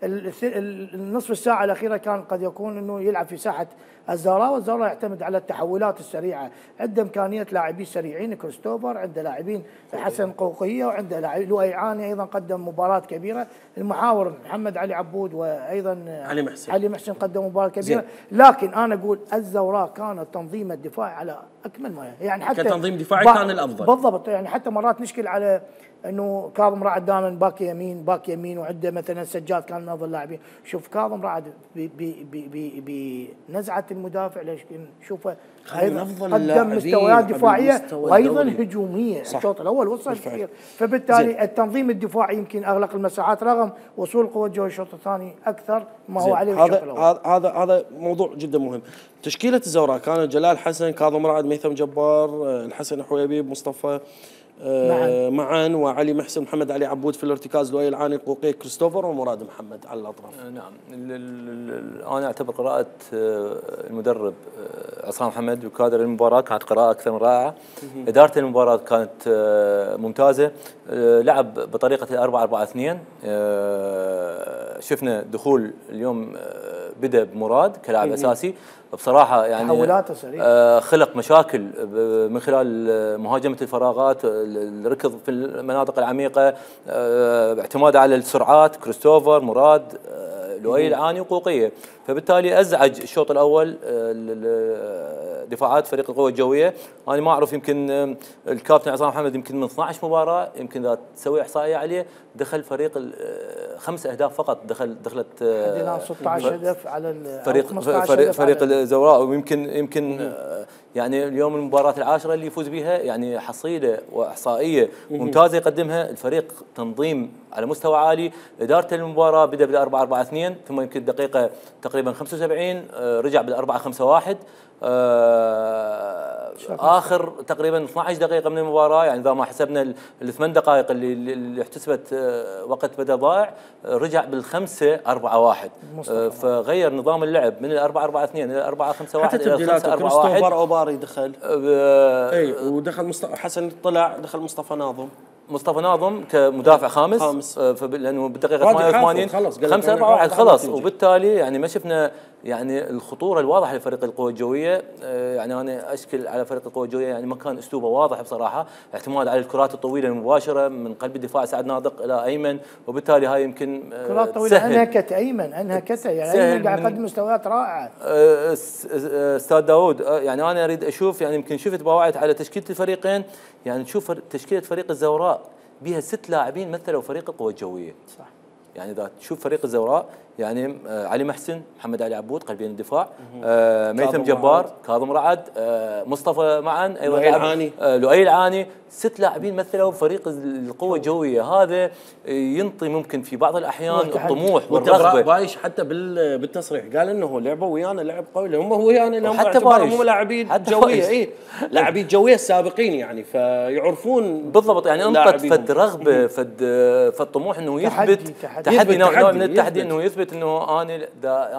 النصف الساعه الاخيره كان قد يكون انه يلعب في ساحه الزوراء، والزوراء يعتمد على التحولات السريعه، عنده امكانيه لاعبين سريعين، كريستوفر عنده لاعبين حسن قوقيه، وعنده لاعب لؤي عاني ايضا قدم مباراه كبيره، المحاور محمد علي عبود وايضا علي محسن علي محسن قدم مباراه كبيره. لكن انا اقول الزوراء كان التنظيم الدفاعي على اكمل ما يعني، حتى كتنظيم دفاعي كان الافضل بالضبط، يعني حتى مرات نشكل على انه كاظم رعد دائما باك يمين باك يمين وعنده مثلا سجاد كان من افضل اللاعبين. شوف كاظم رعد بنزعه المدافع ليش نشوفه ايضا قدم مستويات دفاعيه وايضا هجوميه. الشوط الاول وصل كثير، فبالتالي زي. التنظيم الدفاعي يمكن اغلق المساحات رغم وصول القوه الجويه الشوط الثاني اكثر ما هو عليه الشوط الاول. هذا هذا هذا موضوع جدا مهم. تشكيله الزوراء كانت جلال حسن، كاظم رعد، ميثم جبار، الحسن حويبيب، مصطفى آه معا، وعلي محسن، محمد علي عبود في الارتكاز، لؤي العاني، قوقي، كريستوفر، ومراد محمد على الاطراف. نعم، انا اعتبر قراءه المدرب عصام محمد وكادر المباراه كانت قراءه اكثر من رائعه. اداره المباراه كانت ممتازه، لعب بطريقه أربعة أربعة اثنين. شفنا دخول اليوم بدا بمراد كلاعب اساسي، بصراحه يعني آه خلق مشاكل من خلال مهاجمه الفراغات، الركض في المناطق العميقه، آه اعتماد على السرعات، كريستوفر، مراد، آه لؤي العاني، وقوقيه، فبالتالي ازعج الشوط الاول آه دفاعات فريق القوه الجويه. انا ما اعرف، يمكن الكابتن عصام محمد يمكن من اثنعش مباراه، يمكن اذا تسوي احصائيه عليه، دخل فريق خمس اهداف فقط، دخل دخلت حدنا ستة عشر هدف على فريق فريق, فريق الزوراء، ويمكن يمكن يعني اليوم المباراه العاشره اللي يفوز بها، يعني حصيله واحصائيه ممتازه يقدمها الفريق، تنظيم على مستوى عالي، اداره المباراه بدا بالأربعة أربعة اثنين، ثم يمكن دقيقه تقريبا خمسة وسبعين رجع بالأربعة خمسة واحد. آه اخر تقريبا اثنعش دقيقه من المباراه، يعني اذا ما حسبنا الثمان دقائق اللي اللي احتسبت آه وقت بدل ضائع، آه رجع بالخمسه أربعة واحد، آه فغير نظام اللعب من الأربعة أربعة اثنين الى أربعة خمسة واحد الى الخمسة أربعة واحد. كريستوفر اوباري دخل، آه اي ودخل مصطفى حسن، طلع دخل مصطفى ناظم مصطفى ناظم كمدافع خامس, خامس. آه لانه بالدقيقه ثمانية وثمانين خمسة أربعة واحد خلص، وبالتالي يعني ما شفنا يعني الخطوره الواضحه لفريق القوى الجويه. آه يعني انا اشكل على فريق القوى الجويه، يعني ما كان اسلوبه واضح بصراحه، اعتماد على الكرات الطويله المباشره من قلب الدفاع سعد ناطق الى ايمن، وبالتالي هاي يمكن آه كرات طويله انهكت ايمن انهكت يعني ايمن قاعد يقدم مستويات رائعه. آه استاذ داوود، آه يعني انا اريد اشوف، يعني يمكن شفت باوعت على تشكيله الفريقين، يعني تشوف تشكيله فريق الزوراء بها ست لاعبين مثلوا فريق القوى الجويه. صح. يعني اذا تشوف فريق الزوراء يعني آه علي محسن، محمد علي عبود قلبين الدفاع، آه ميثم جبار، كاظم رعد، آه مصطفى معا، ايضا لؤي العاني، آه لؤي العاني. ست لاعبين مثلوا فريق القوه الجويه. هذا ينطي ممكن في بعض الاحيان الطموح والرغبه. بايش حتى بالتصريح قال انه لعبوا ويانا لعب قوي، هم ويانا لهم حتى بايش هم لاعبين جويه، اي لاعبين جويه السابقين يعني، فيعرفون بالضبط. يعني انطت فد رغبه فد فد طموح انه يثبت تحدي, تحدي نوع من التحدي، انه يثبت انه انا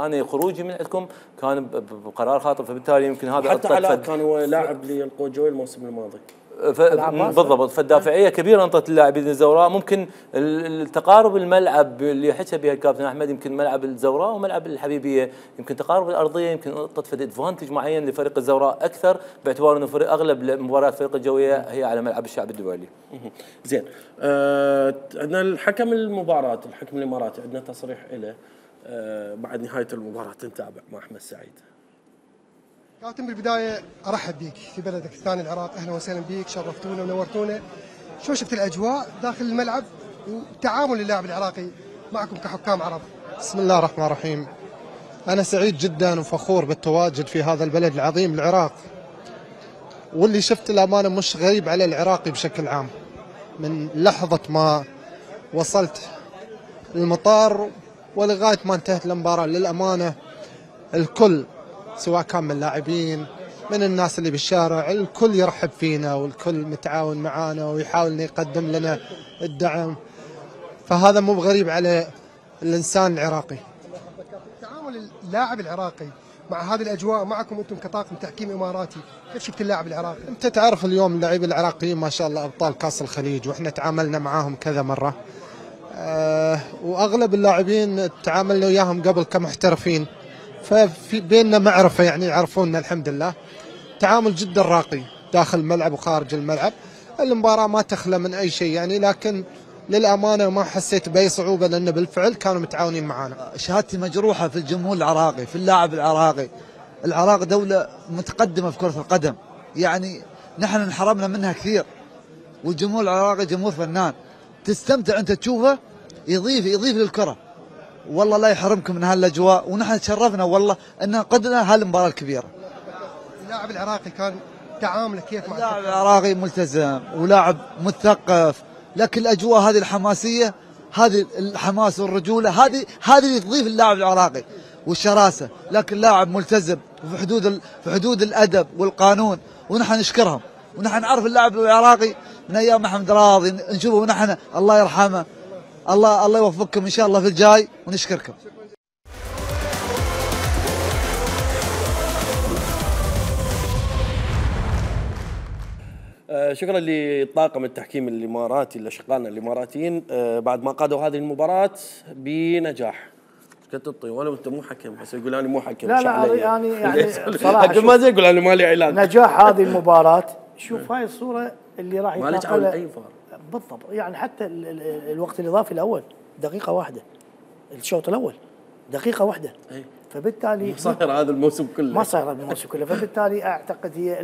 انا خروجي من عندكم كان بقرار خاطئ، فبالتالي يمكن هذا حتى علاء كان هو لاعب للقوه الجويه الموسم الماضي. ف... بالضبط. فالدافعيه كبيره انطت اللاعبين الزوراء. ممكن التقارب الملعب اللي حكى بها الكابتن احمد، يمكن ملعب الزوراء وملعب الحبيبيه، يمكن تقارب الارضيه يمكن انطت فد ادفانتج معين لفريق الزوراء اكثر، باعتبار انه فريق اغلب مباريات فريق الجويه هي على ملعب الشعب الدولي. زين، آه عندنا الحكم المباراه، الحكم الاماراتي عندنا تصريح له آه بعد نهايه المباراه. نتابع مع احمد سعيد. كابتن، بالبدايه ارحب بيك في بلدك الثاني العراق، اهلا وسهلا بيك، شرفتونا ونورتونا. شو شفت الاجواء داخل الملعب وتعامل اللاعب العراقي معكم كحكام عرب؟ بسم الله الرحمن الرحيم. انا سعيد جدا وفخور بالتواجد في هذا البلد العظيم العراق، واللي شفت الامانه مش غريب على العراقي بشكل عام. من لحظه ما وصلت المطار ولغايه ما انتهت المباراه، للامانه الكل سواء كان من اللاعبين من الناس اللي بالشارع، الكل يرحب فينا والكل متعاون معانا ويحاول انه يقدم لنا الدعم، فهذا مو بغريب على الانسان العراقي. تعامل اللاعب العراقي مع هذه الاجواء معكم انتم كطاقم تحكيم اماراتي، كيف شفت اللاعب العراقي؟ انت تعرف اليوم اللاعبين العراقيين ما شاء الله ابطال كاس الخليج، واحنا تعاملنا معاهم كذا مره، أه واغلب اللاعبين تعاملنا وياهم قبل كمحترفين، ففي بيننا معرفه يعني يعرفوننا الحمد لله. تعامل جدا راقي داخل الملعب وخارج الملعب. المباراه ما تخلى من اي شيء يعني، لكن للامانه ما حسيت باي صعوبه لان بالفعل كانوا متعاونين معنا. شهادتي مجروحه في الجمهور العراقي، في اللاعب العراقي. العراق دوله متقدمه في كره القدم، يعني نحن انحرمنا منها كثير، والجمهور العراقي جمهور فنان، تستمتع انت تشوفه، يضيف يضيف للكره. والله لا يحرمكم من هالاجواء، ونحن تشرفنا والله ان قدنا هالمباراه الكبيره. اللاعب العراقي كان تعامله كيف مع اللاعب العراقي؟ ملتزم ولاعب مثقف، لكن الاجواء هذه الحماسيه، هذه الحماس والرجوله، هذه هذه اللي تضيف اللاعب العراقي والشراسه، لكن لاعب ملتزم وفي حدود في حدود الادب والقانون، ونحن نشكرهم، ونحن نعرف اللاعب العراقي من ايام محمد راضي نشوفه، ونحن الله يرحمه، الله الله يوفقكم ان شاء الله في الجاي، ونشكركم. آه شكرا لطاقم التحكيم الاماراتي لاشقائنا الاماراتيين آه بعد ما قادوا هذه المباراه بنجاح. كنت تطي ولا انت مو حكم، بس يقول انا مو حكم. لا لا يعني يعني صراحه حكم ما زي يقول انا مالي علاج. نجاح هذه المباراه، شوف هاي الصوره اللي راح يتنقلها اي فار بالضبط، يعني حتى ال ال الوقت الاضافي الاول دقيقه واحده، الشوط الاول دقيقه واحده، أي. فبالتالي ما صاير هذا الموسم كله، ما صاير هذا الموسم كله، فبالتالي اعتقد هي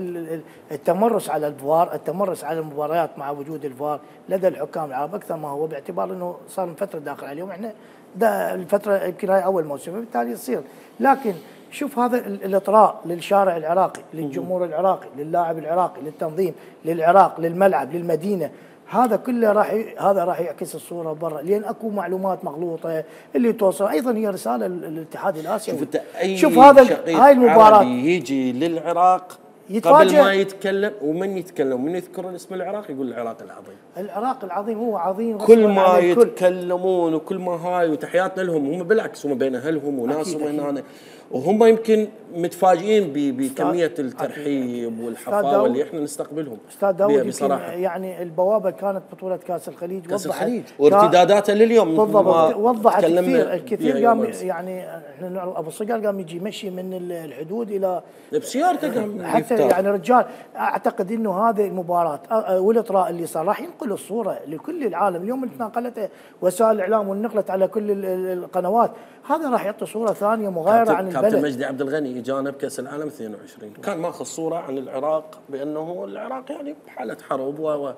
التمرس على الفار، التمرس على المباريات مع وجود الفار لدى الحكام العرب اكثر ما هو، باعتبار انه صار من فتره داخل عليهم، احنا ده الفتره يمكن هاي اول موسم، فبالتالي يصير. لكن شوف هذا الاطراء للشارع العراقي، للجمهور العراقي، للاعب العراقي، للتنظيم، للعراق، للملعب، للمدينه، هذا كله راح ي... هذا راح يعكس الصوره برا، لان اكو معلومات مغلوطه اللي توصل. ايضا هي رساله للاتحاد الاسيوي. شوف, أي شوف هذا هاي المباراه يجي للعراق يتفاجأ قبل ما يتكلم، ومن يتكلم من يذكر الاسم العراق يقول العراق العظيم. العراق العظيم هو عظيم، كل ما يتكلمون وكل ما هاي، وتحياتنا لهم، هم بالعكس هم بين اهلهم وناسهم هنا، وهم يمكن متفاجئين بكميه الترحيب والحفاوه اللي احنا نستقبلهم. استاذ داود بصراحه يعني البوابه كانت بطوله كاس الخليج، كاس الخليج وارتداداتها لليوم بالضبط وضحت كثير. الكثير قام يعني احنا ابو صقر قام يجي مشي من الحدود الى بسيارته قام حتى يعني رجال. اعتقد انه هذه المباراه والاطراء اللي صار راح ينقل الصوره لكل العالم. اليوم نقلته وسائل الاعلام ونقلت على كل القنوات، هذا راح يعطي صوره ثانيه مغايره عن البلد. كابتن مجدي عبد الغني اجانا بكاس العالم اثنين وعشرين كان ماخذ صوره عن العراق بانه العراق يعني بحاله حرب و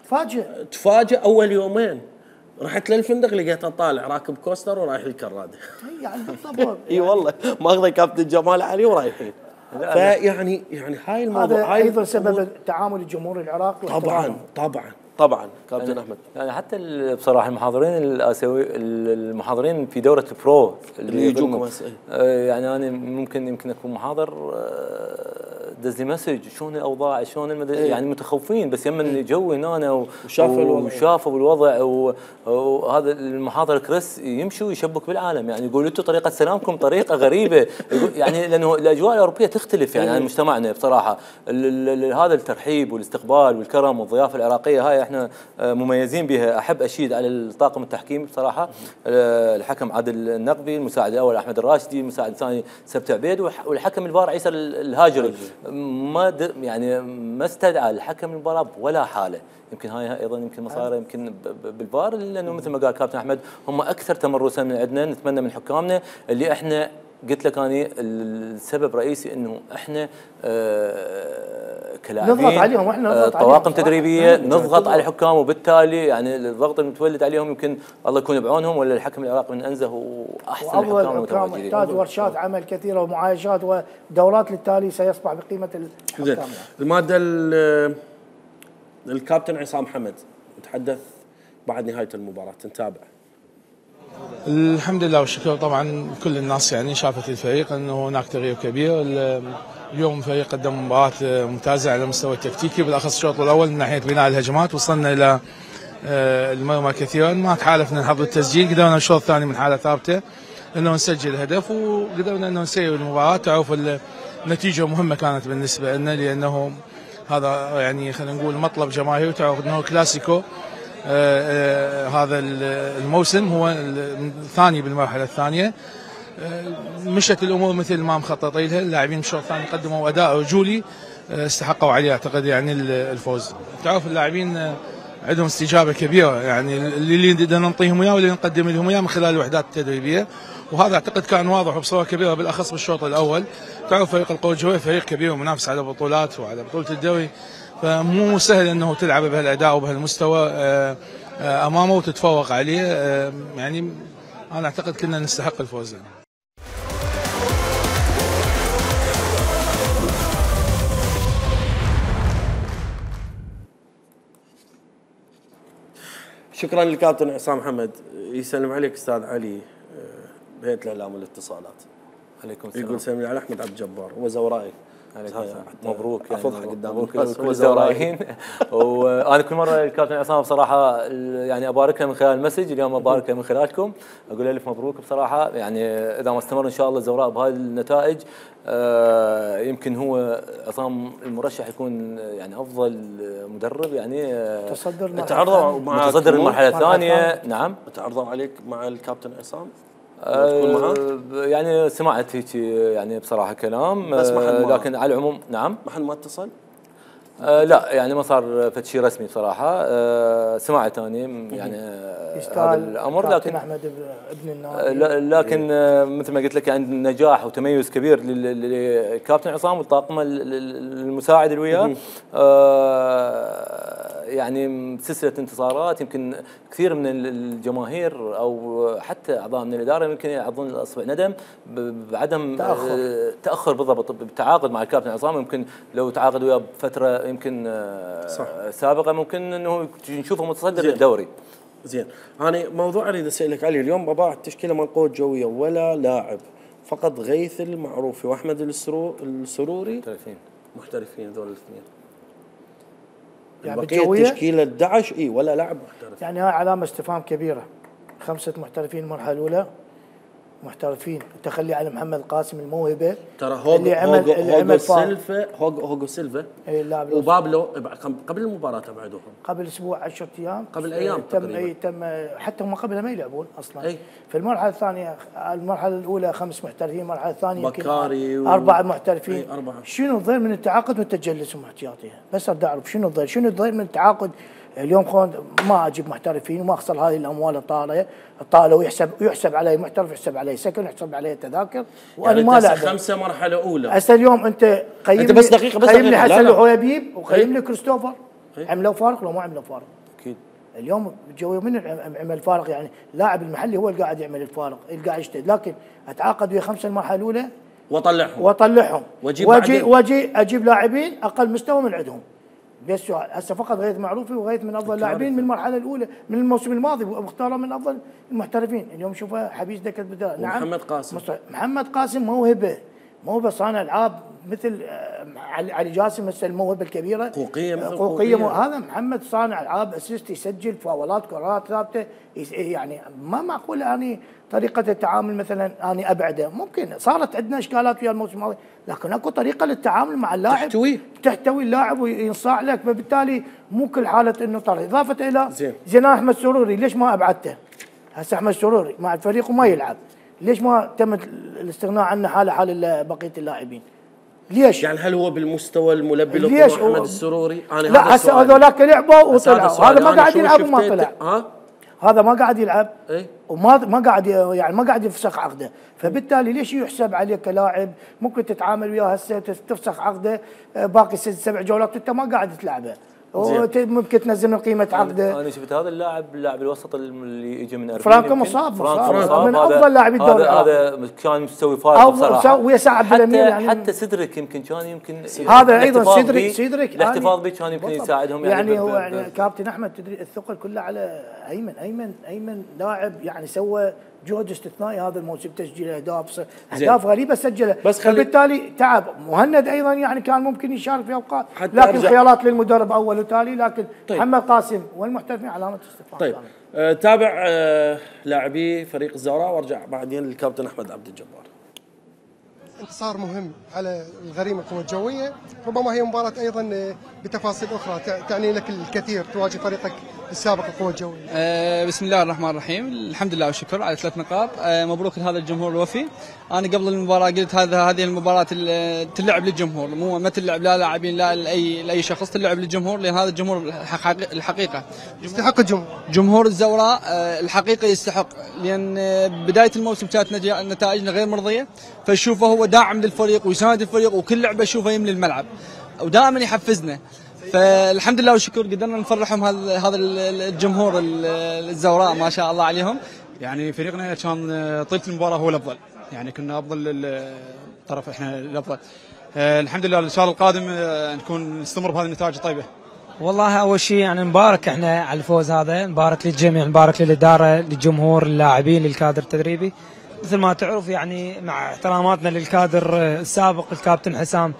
تفاجئ تفاجئ اول يومين رحت للفندق لقيته طالع راكب كوستر ورايح الكراده. يعني بالضبط. اي والله ماخذه كابتن جمال علي ورايحين. فيعني يعني هاي الموضوع هذا ايضا سبب تعامل الجمهور العراقي. طبعا طبعا طبعا كابتن يعني احمد. يعني حتى بصراحه المحاضرين الاسيوي المحاضرين في دوره البرو اللي يجوكم يعني انا ممكن يمكن اكون محاضر دز لي مسج شلون الاوضاع شلون المدرسة إيه؟ يعني متخوفين بس يمن جو هنا وشافوا الوضع وشافوا الوضع وهذا المحاضر كريس يمشوا يشبك بالعالم يعني يقول انتم طريقه سلامكم طريقه غريبه يعني لانه الاجواء الاوروبيه تختلف يعني عن مجتمعنا بصراحه. هذا الترحيب والاستقبال والكرم والضيافه العراقيه هاي احنا مميزين بها. احب اشيد على الطاقم التحكيمي بصراحه، الحكم عادل النقبي، المساعد الاول احمد الراشدي، المساعد الثاني سبت عبيد، والحكم الفار عيسى الهاجري. ما يعني ما استدعى الحكم المباراه ولا حاله. يمكن هاي ايضا يمكن مصاري يمكن بالفار لانه مثل ما قال كابتن احمد هم اكثر تمرسا من عندنا. نتمنى من حكامنا اللي احنا قلت لك اني السبب الرئيسي انه احنا آه كلاعبين نضغط عليهم واحنا نضغط آه طواقم تدريبيه نضغط على الحكام، وبالتالي يعني الضغط المتولد عليهم يمكن الله يكون بعونهم ولا الحكم العراقي من انزه واحسن الحكام المتواجدين. محتاج ورشات عمل كثيره ومعايشات ودورات للتالي سيصبح بقيمه الحكام. الماده الكابتن عصام حمد يتحدث بعد نهايه المباراه، نتابع. الحمد لله والشكر. طبعا كل الناس يعني شافت الفريق انه هناك تغيير كبير. اليوم الفريق قدم مباراه ممتازه على المستوى التكتيكي، بالاخص الشوط الاول من ناحيه بناء الهجمات وصلنا الى المرمى كثيرا، ما تحالفنا نحضر التسجيل، قدرنا الشوط الثاني من حاله ثابته انه نسجل هدف وقدرنا انه نسير المباراه. تعرف النتيجه مهمه كانت بالنسبه لنا لانه هذا يعني خلينا نقول مطلب جماهيري. تعرف انه كلاسيكو آه آه هذا الموسم هو الثاني بالمرحله الثانيه. آه مشت الامور مثل ما مخططين لها، اللاعبين الشوط الثاني قدموا اداء رجولي آه استحقوا عليه اعتقد يعني الفوز. تعرف اللاعبين آه عندهم استجابه كبيره يعني اللي بدنا نعطيهم اياه واللي نقدم لهم اياه من خلال الوحدات التدريبيه، وهذا اعتقد كان واضح وبصوره كبيره بالاخص بالشوط الاول. تعرف فريق القوى الجويه فريق كبير ومنافس على بطولات وعلى بطوله الدوري، فمو سهل انه تلعب بهالاداء وبهالمستوى امامه وتتفوق عليه. يعني انا اعتقد كنا نستحق الفوز. شكرا للكابتن عصام حمد. يسلم عليك استاذ علي بهيئه الاعلام والاتصالات. عليكم السلام. يقول سلم على احمد عبد الجبار وزورائي. مبروك يعني افضحك قدام مبروك كل الزورايين. وانا كل مره الكابتن عصام بصراحه يعني ابارك له من خلال المسج، اليوم ابارك له من خلالكم، اقول له الف مبروك بصراحه. يعني اذا ما استمر ان شاء الله الزوراء بهذه النتائج آه يمكن هو عصام المرشح يكون يعني افضل مدرب يعني آه تصدر تعرضوا مع متصدر المرحله الثانيه. نعم تعرضوا عليك مع الكابتن عصام؟ آه يعني سمعت هيك يعني بصراحه كلام بس آه لكن على العموم نعم ما حد ما اتصل؟ آه لا يعني ما صار فد شيء رسمي بصراحه. آه سمعت اني يعني هذا الامر لكن احمد ابن النادي لكن آه مثل ما قلت لك عند نجاح وتميز كبير للكابتن عصام والطاقم المساعد اللي وياه. آه يعني سلسله انتصارات يمكن كثير من الجماهير او حتى اعضاء من الاداره يمكن يعضون الاصبع ندم بعدم تاخر, تأخر بالضبط بالتعاقد مع الكابتن عصام. يمكن لو تعاقد وياه بفتره يمكن صح. سابقه ممكن انه نشوفه متصدر الدوري. زين انا موضوع اريد اسالك عليه اليوم. بابا التشكيله مال القوى الجويه ولا لاعب، فقط غيث المعروفي واحمد السروري محترفين محترفين هذول الاثنين. يعني بقيه التشكيله دعش اي ولا لاعب محترف. يعني هاي علامه استفهام كبيره. خمسه محترفين المرحله الاولى محترفين، تخلي على محمد القاسم الموهبه ترى هوجو اللي عمل اللي عمل سيلفا هوجو هوجو سيلفا اي اللاعب وبابلو قبل المباراه ابعدوهم قبل اسبوع عشرة ايام قبل ايام تم اي تم حتى هم قبلها ما يلعبون اصلا. أي. في المرحله الثانيه المرحله الاولى خمس محترفين، المرحله الثانيه بكاري و... اربعه محترفين. أي أربعة. شنو الضير من التعاقد والتجلس احتياطيها؟ بس اريد اعرف شنو الضير شنو الضير من التعاقد اليوم. خون ما اجيب محترفين وما اخسر هذه الاموال الطالعه الطالة ويحسب يحسب علي محترف، يحسب علي سكن، يحسب علي تذاكر، وانا يعني ما لعب خمسه مرحله اولى. هسه اليوم انت قيم انت بس دقيقه بس قيم لي حسن الحويبيب وقيم لي كريستوفر. عملوا فارق لو ما عملوا فارق؟ اكيد اليوم الجويه من عمل فارق يعني لاعب المحلي هو اللي قاعد يعمل الفارق اللي قاعد يجتهد، لكن اتعاقد ويا خمسه المرحله الاولى واطلعهم واطلعهم واجيب واجي واجي اجيب لاعبين اقل مستوى من عندهم. بس هسه فقط غيث معروفي وغيث من افضل اللاعبين من المرحله الاولى من الموسم الماضي واختاره من افضل المحترفين، اليوم شوفه حبيز دكت بدال. نعم محمد قاسم محمد قاسم موهبه موهبه صانع العاب مثل علي جاسم مثل الموهبه الكبيره قوقيه مثل قوقيه مو هذا محمد صانع العاب اسيست يسجل فاولات كرات ثابته يعني ما معقول اني طريقه التعامل مثلا اني ابعده. ممكن صارت عندنا اشكالات ويا الموسم الماضي لكن اكو طريقه للتعامل مع اللاعب تحتوي تحتوي اللاعب وينصاع لك، فبالتالي مو كل حاله انه طرد. اضافه الى زين زين احمد سروري ليش ما ابعدته؟ هسه احمد سروري مع الفريق وما يلعب، ليش ما تم الاستغناء عنه حال حال بقيه اللاعبين؟ ليش؟ يعني هل هو بالمستوى الملبي ليش محمد السروري؟ أنا لا هسه هذولاك لعبوا وطلعوا، هذا ما قاعد يلعب وما طلع. ها؟ هذا ما قاعد يلعب ايه؟ وما ما قاعد يعني ما قاعد يفسخ عقده، فبالتالي ليش يحسب عليك كلاعب ممكن تتعامل وياه هسه تفسخ عقده باقي ست سبع جولات وانت ما قاعد تلعبه ممكن تنزل من قيمه عقده. انا شفت هذا اللاعب اللاعب الوسط اللي يجي من اربعين فرانكو مصاب مصاب من افضل لاعبي الدوري هذا كان مستوي فارق بصراحه ويا ساعد بالامير يعني حتى سيدريك يمكن كان يمكن هذا ايضا سيدريك سيدريك الاحتفاظ به كان يمكن يساعدهم يعني, يعني هو يعني كابتن احمد تدري الثقل كله على ايمن ايمن ايمن لاعب يعني سوى جهد استثنائي هذا الموسم تسجيل اهداف اهداف غريبه سجلها بس فبالتالي تعب. مهند ايضا يعني كان ممكن يشارك في اوقات لكن خيارات للمدرب اول وتالي لكن طيب. محمد قاسم والمحترفين علامه استفهام. طيب آه تابع آه لاعبي فريق الزوراء وارجع بعدين للكابتن احمد عبد الجبار. انتصار مهم على الغريم القوى الجويه، ربما هي مباراه ايضا بتفاصيل اخرى تعني لك الكثير تواجه فريقك السابق القوى الجويه. أه بسم الله الرحمن الرحيم، الحمد لله والشكر على ثلاث نقاط. أه مبروك لهذا الجمهور الوفي. انا قبل المباراه قلت هذا هذه المباراه تلعب للجمهور، مو ما تلعب لا لاعبين لا لاي لاي شخص، تلعب للجمهور لان هذا الجمهور الحقيقه يستحق الجمهور. جمهور الزوراء أه الحقيقه يستحق، لان بدايه الموسم كانت نتائجنا غير مرضيه، فشوفه هو داعم للفريق ويساند الفريق وكل لعبه اشوفه يملي الملعب ودائما يحفزنا. فالحمد لله والشكر قدرنا نفرحهم هذا هذا الجمهور الزوراء ما شاء الله عليهم. يعني فريقنا كان طيله المباراه هو الافضل، يعني كنا افضل الطرف احنا الافضل. الحمد لله ان شاء الله القادم نكون نستمر بهذه النتائج الطيبه. والله اول شيء يعني نبارك احنا على الفوز هذا، نبارك للجميع، نبارك للاداره للجمهور اللاعبين للكادر التدريبي. مثل ما تعرف يعني مع احتراماتنا للكادر السابق الكابتن حسام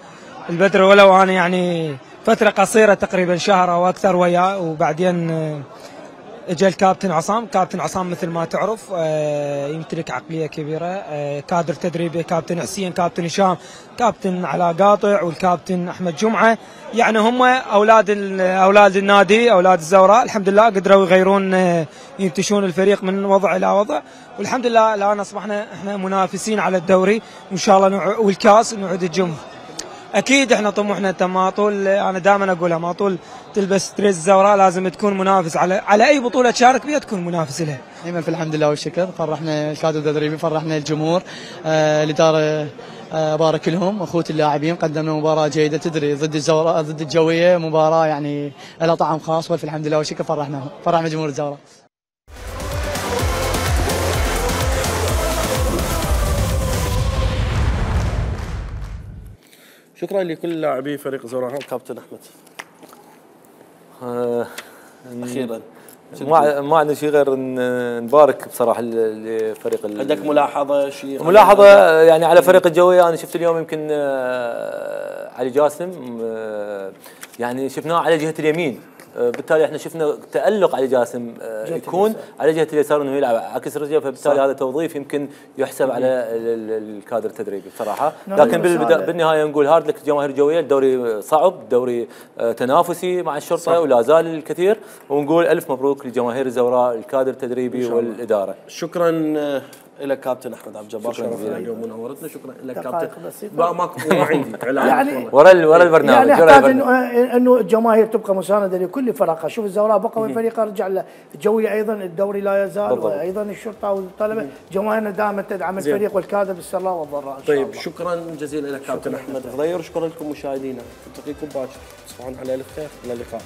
البدر، ولو انا يعني فتره قصيره تقريبا شهر او اكثر وياه، وبعدين اجى الكابتن عصام. كابتن عصام مثل ما تعرف يمتلك عقليه كبيره، كادر تدريبي كابتن حسين كابتن هشام كابتن علاء قاطع والكابتن احمد جمعه، يعني هم اولاد اولاد النادي اولاد الزوراء. الحمد لله قدروا يغيرون ينتشون الفريق من وضع الى وضع، والحمد لله الان اصبحنا احنا منافسين على الدوري وان شاء الله والكاس نعود الجمهور. اكيد احنا طموحنا انت ما طول انا دائما اقولها ما طول تلبس تريز الزوراء لازم تكون منافس على على اي بطوله تشارك فيها تكون منافس لها. دائما في الحمد لله والشكر، فرحنا الكادر التدريبي فرحنا الجمهور آه الاداره آه بارك لهم اخوتي اللاعبين، قدمنا مباراه جيده تدري ضد الزوراء ضد الجويه، مباراه يعني لها طعم خاص والف الحمد لله والشكر فرحناهم فرحنا جمهور الزوراء. شكرا لكل لاعبي فريق الزوراء. كابتن احمد آه اخيرا ما ما عندنا شيء غير نبارك بصراحه لفريق. عندك ملاحظه شيء؟ ملاحظه يعني على فريق الجويه، انا شفت اليوم يمكن آه علي جاسم آه يعني شفناه على جهه اليمين، بالتالي احنا شفنا تألق علي جاسم يكون على جهه اليسار انه يلعب عكس رجله، فبالتالي هذا توظيف يمكن يحسب على الكادر التدريبي بصراحه. لكن بالنهايه نقول هارد لك الجماهير الجويه، الدوري صعب، دوري تنافسي مع الشرطه ولا زال الكثير، ونقول الف مبروك لجماهير الزوراء الكادر التدريبي والاداره. شكرا لك كابتن احمد عبد الجبار، شرفتنا اليوم ونورتنا. شكرا لك كابتن. ما ماكو ما عندي يعني ورا ورا البرنامج يعني احتاج انه الجماهير تبقى مسانده لكل فرقها. شوف الزوراء بقى والفريق رجع له الجويه ايضا الدوري لا يزال بالضبط. وايضا الشرطه والطلبه جماهيرنا دائما تدعم الفريق والكادر بالسراء والضراء. طيب شكرا جزيلا لك كابتن احمد غضير، شكرا لكم مشاهدينا، نلتقيكم باكر، تصبحون على الف خير، الى اللقاء.